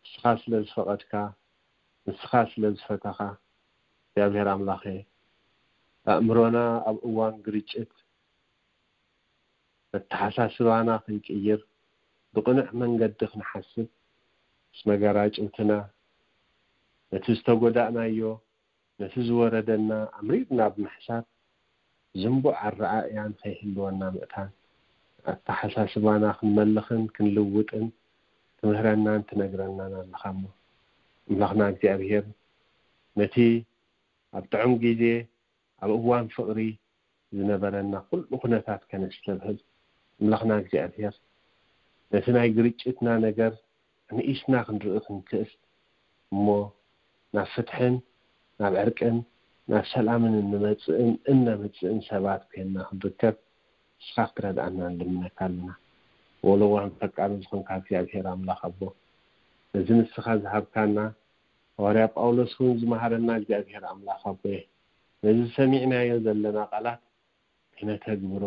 ንስኻ ስለ ዝፈቐድካ፣ ንስኻ ስለ ዝፈተኻ፣ እግዚኣብሔር ኣምላኸ፣ ኣእምሮና ኣብ እዋን ግርጭት መተሓሳስባና ክንቅይር፣ ብቕኑዕ መንገዲ ክንሓስብ፣ ምስ መጋራጭውትና ነቲ ዝተጎዳእናዮ፣ ነቲ ዝወረደና ኣምሪርና ብምሕሳብ፣ ዝንቡዕ ኣረኣእያ ንኸይህልወና ምእታን፣ ኣተሓሳስባና ክንመልኽን ክንልውጥን ትምህረናን ትነግረናን ኣለኻ እሞ፣ ኣምላኽና እግዚኣብሔር፣ ነቲ ኣብ ጥዑም ግዜ፣ ኣብ እዋን ፍቕሪ ዝነበረና ኩሉ ኩነታት ከነስተብህል፣ ኣምላኽና እግዚኣብሔር፣ ነቲ ናይ ግርጭትና ነገር ኣንኢስና ክንርኢ ክንክእል፣ እሞ ናብ ፍትሕን ናብ ዕርቅን ናብ ሰላምን እንመጽእን እነምጽእን ሰባት ኮይንና ክንርከብ ንስኻ ክትረድኣና ንልምነካ ኣለና። ወለዋን ፈቃርን ዝኾንካ እግዚኣብሔር ኣምላኽ ኣቦ፣ ነዚ ንስኻ ዝሃብካና፣ ሃዋርያ ጳውሎስ እውን ዝመሃረና እግዚኣብሔር ኣምላኽ ኣቦየ፣ ነዚ ሰሚዕናዮ ዘለና ቃላት ክነተግብሮ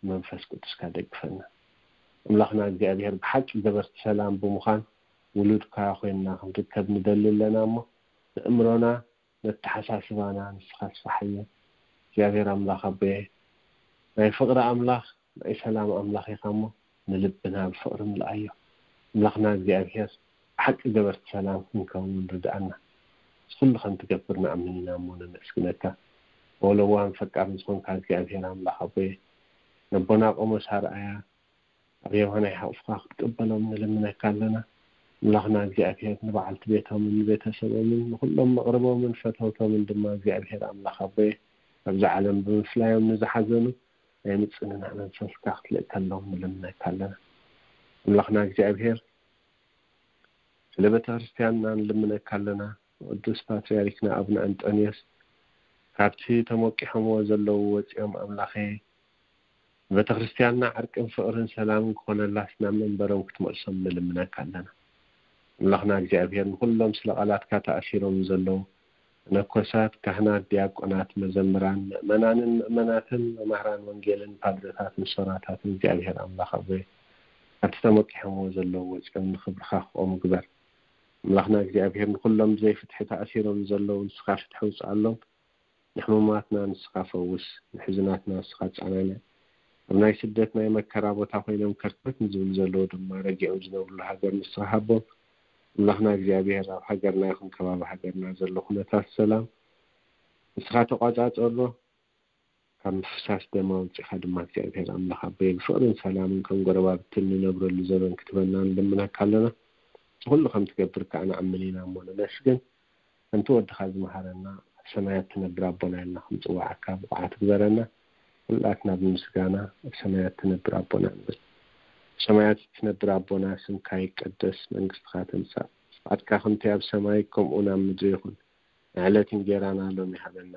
መንፈስ ቅዱስካ ደግፈና። ኣምላኽና እግዚኣብሔር፣ ብሓቂ ገበርቲ ሰላም ብምዃን ውሉድካ ኮይንና ክንርከብ ንደሊ ኣለና እሞ፣ ንእምሮና ነተሓሳስባና ንስኻ ኣስፋሓዮ። እግዚኣብሔር ኣምላኽ ኣቦየ፣ ናይ ፍቕሪ ኣምላኽ ናይ ሰላም ኣምላኽ ኢኻ እሞ፣ ንልብና ብፍቕሪ ምልኣዮ። ኣምላኽና እግዚኣብሔር፣ ብሓቂ ገበርቲ ሰላም ክንከውን ርድኣና። እዚ ኩሉ ከም ትገብር ንኣምን ኢና እሞ ነመስግነካ። ወለዋን ፈቃርን ዝኾንካ እግዚኣብሔር ኣምላኽ ኣቦየ፣ ነቦና ቆሞስ ኣርኣያ ኣብ የማናይ ሓቑፍካ ክትቀበሎም ንልምነካ ኣለና። ኣምላኽና እግዚኣብሔር፣ ንበዓልቲ ቤቶምን ንቤተሰቦምን ንኹሎም መቕርቦምን ፈተውቶምን ድማ እግዚኣብሔር ኣምላኽ ኣቦየ፣ ኣብዚ ዓለም ብምፍላዮም ንዝሓዘኑ ናይ ምጽንናዕ መንፈስካ ክትልእከሎም ንልምነካ ኣለና። ኣምላኽና እግዚኣብሔር፣ ስለ ቤተ ክርስቲያንና ንልምነካ ኣለና። ቅዱስ ፓትርያርክና ኣቡነ ኣንጦንዮስ፣ ካብቲ ተሞቂሖምዎ ዘለዉ ወጺኦም፣ ኣምላኸ፣ ንቤተ ክርስቲያንና ዕርቅን ፍቕርን ሰላምን ክኾነላስ ናብ መንበሮም ክትመልሶም ንልምነካ ኣለና። ኣምላኽና እግዚኣብሔር፣ ንኹሎም ስለ ቃላትካ ተኣሲሮም ዘለዉ መነኮሳት፣ ካህናት፣ ዲያቆናት፣ መዘምራን፣ ምእመናንን ምእመናትን፣ መማህራን ወንጌልን ፓድረታትን ሶራታትን እግዚኣብሔር ኣምላኽ ኣቦየ፣ ኣብቲ ተመቂሖምዎ ዘለዉ ወፂኦም ንኽብርኻ ክቖሙ ግበር። ኣምላኽና እግዚኣብሔር፣ ንኹሎም ብዘይ ፍትሒ ተኣሲሮም ዘለዉ ንስኻ ፍትሒ ውፅኣሎም። ንሕሙማትና ንስኻ ፈውስ፣ ንሕዙናትና ንስኻ ኣፀናንዕ። ኣብ ናይ ስደት ናይ መከራ ቦታ ኮይኖም ከርተት ንዝብሉ ዘለዉ ድማ ረጊዖም ዝነብሩሉ ሃገር ንስኻ ሃቦም። ኣምላኽና እግዚኣብሔር፣ ኣብ ሃገርና ይኹን ከባቢ ሃገርና ዘሎ ኩነታት ሰላም ንስኻ ተቋጻጸሮ። ካብ ምፍሳስ ደም ኣውጺኻ ድማ እግዚኣብሔር ኣምላኽ ኣቦይ፣ ብፍቕርን ሰላምን ከም ጎረባብትን ንነብረሉ ዘበን ክትበና ንልምነካ ኣለና። እቲ ኩሉ ከም ትገብር ከኣ ንኣምን ኢና እሞ ነመስግን። ከምቲ ወድኻ ዝመሃረና፣ ኣብ ሰማያት ትነብር ኣቦና ኢልና ክንጽዋዓካ ብቑዓት ግበረና። ኩላትና ብምስጋና ኣብ ሰማያት ትነብር ኣቦና ንብል። ኣብ ሰማያት ትነብር ኣቦና፣ ስምካ ይቀደስ፣ መንግስትኻ ትምጻእ፣ ፍቓድካ ከምቲ ኣብ ሰማይ ከምኡ ኣብ ምድሪ ይኹን። ንዕለት እንጌራና ሎሚ ሃበና።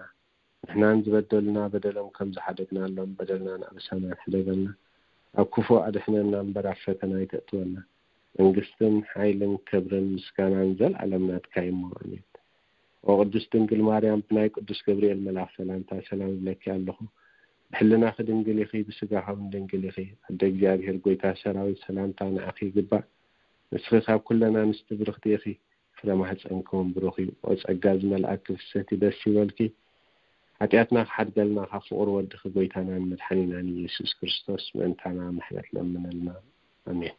ንሕናን ዝበደሉና በደሎም ከም ዝሓደግናሎም በደልና ንኣበሳና ሕደገልና። ኣብ ክፉእ ኣድሕነና እምበር ኣብ ፈተና ኣይተእትወና። መንግስትን ሓይልን ክብርን ምስጋናን ዘልኣለም ናትካ እዩ እሞ፣ ኣሜን። ኦ ቅድስት ድንግል ማርያም፣ ብናይ ቅዱስ ገብርኤል መልኣኽ ሰላምታ ሰላም እብለኪ ኣለኹ። ብሕልናኺ ድንግል ኢኺ፣ ብስጋኺ እውን ድንግል ኢኺ። ኣደ እግዚኣብሔር፣ ጎይታ ሰራዊት፣ ሰላምታ ንዓኺ ይግባእ። ንስኺ ካብ ኩለን ኣንስቲ ብርኽቲ ኢኺ፣ ፍረ ማህፀንኪ እውን ብሩኽ እዩ። ኦ ጸጋ ዝመልኣኪ ፍስሕቲ፣ ደስ ይበልኪ። ሓጢኣትና ክሓድገልና ካብ ፍቑር ወድኺ ጎይታናን መድሓኒናን ኢየሱስ ክርስቶስ ምእንታና ምሕረት ለምነልና። ኣሜን።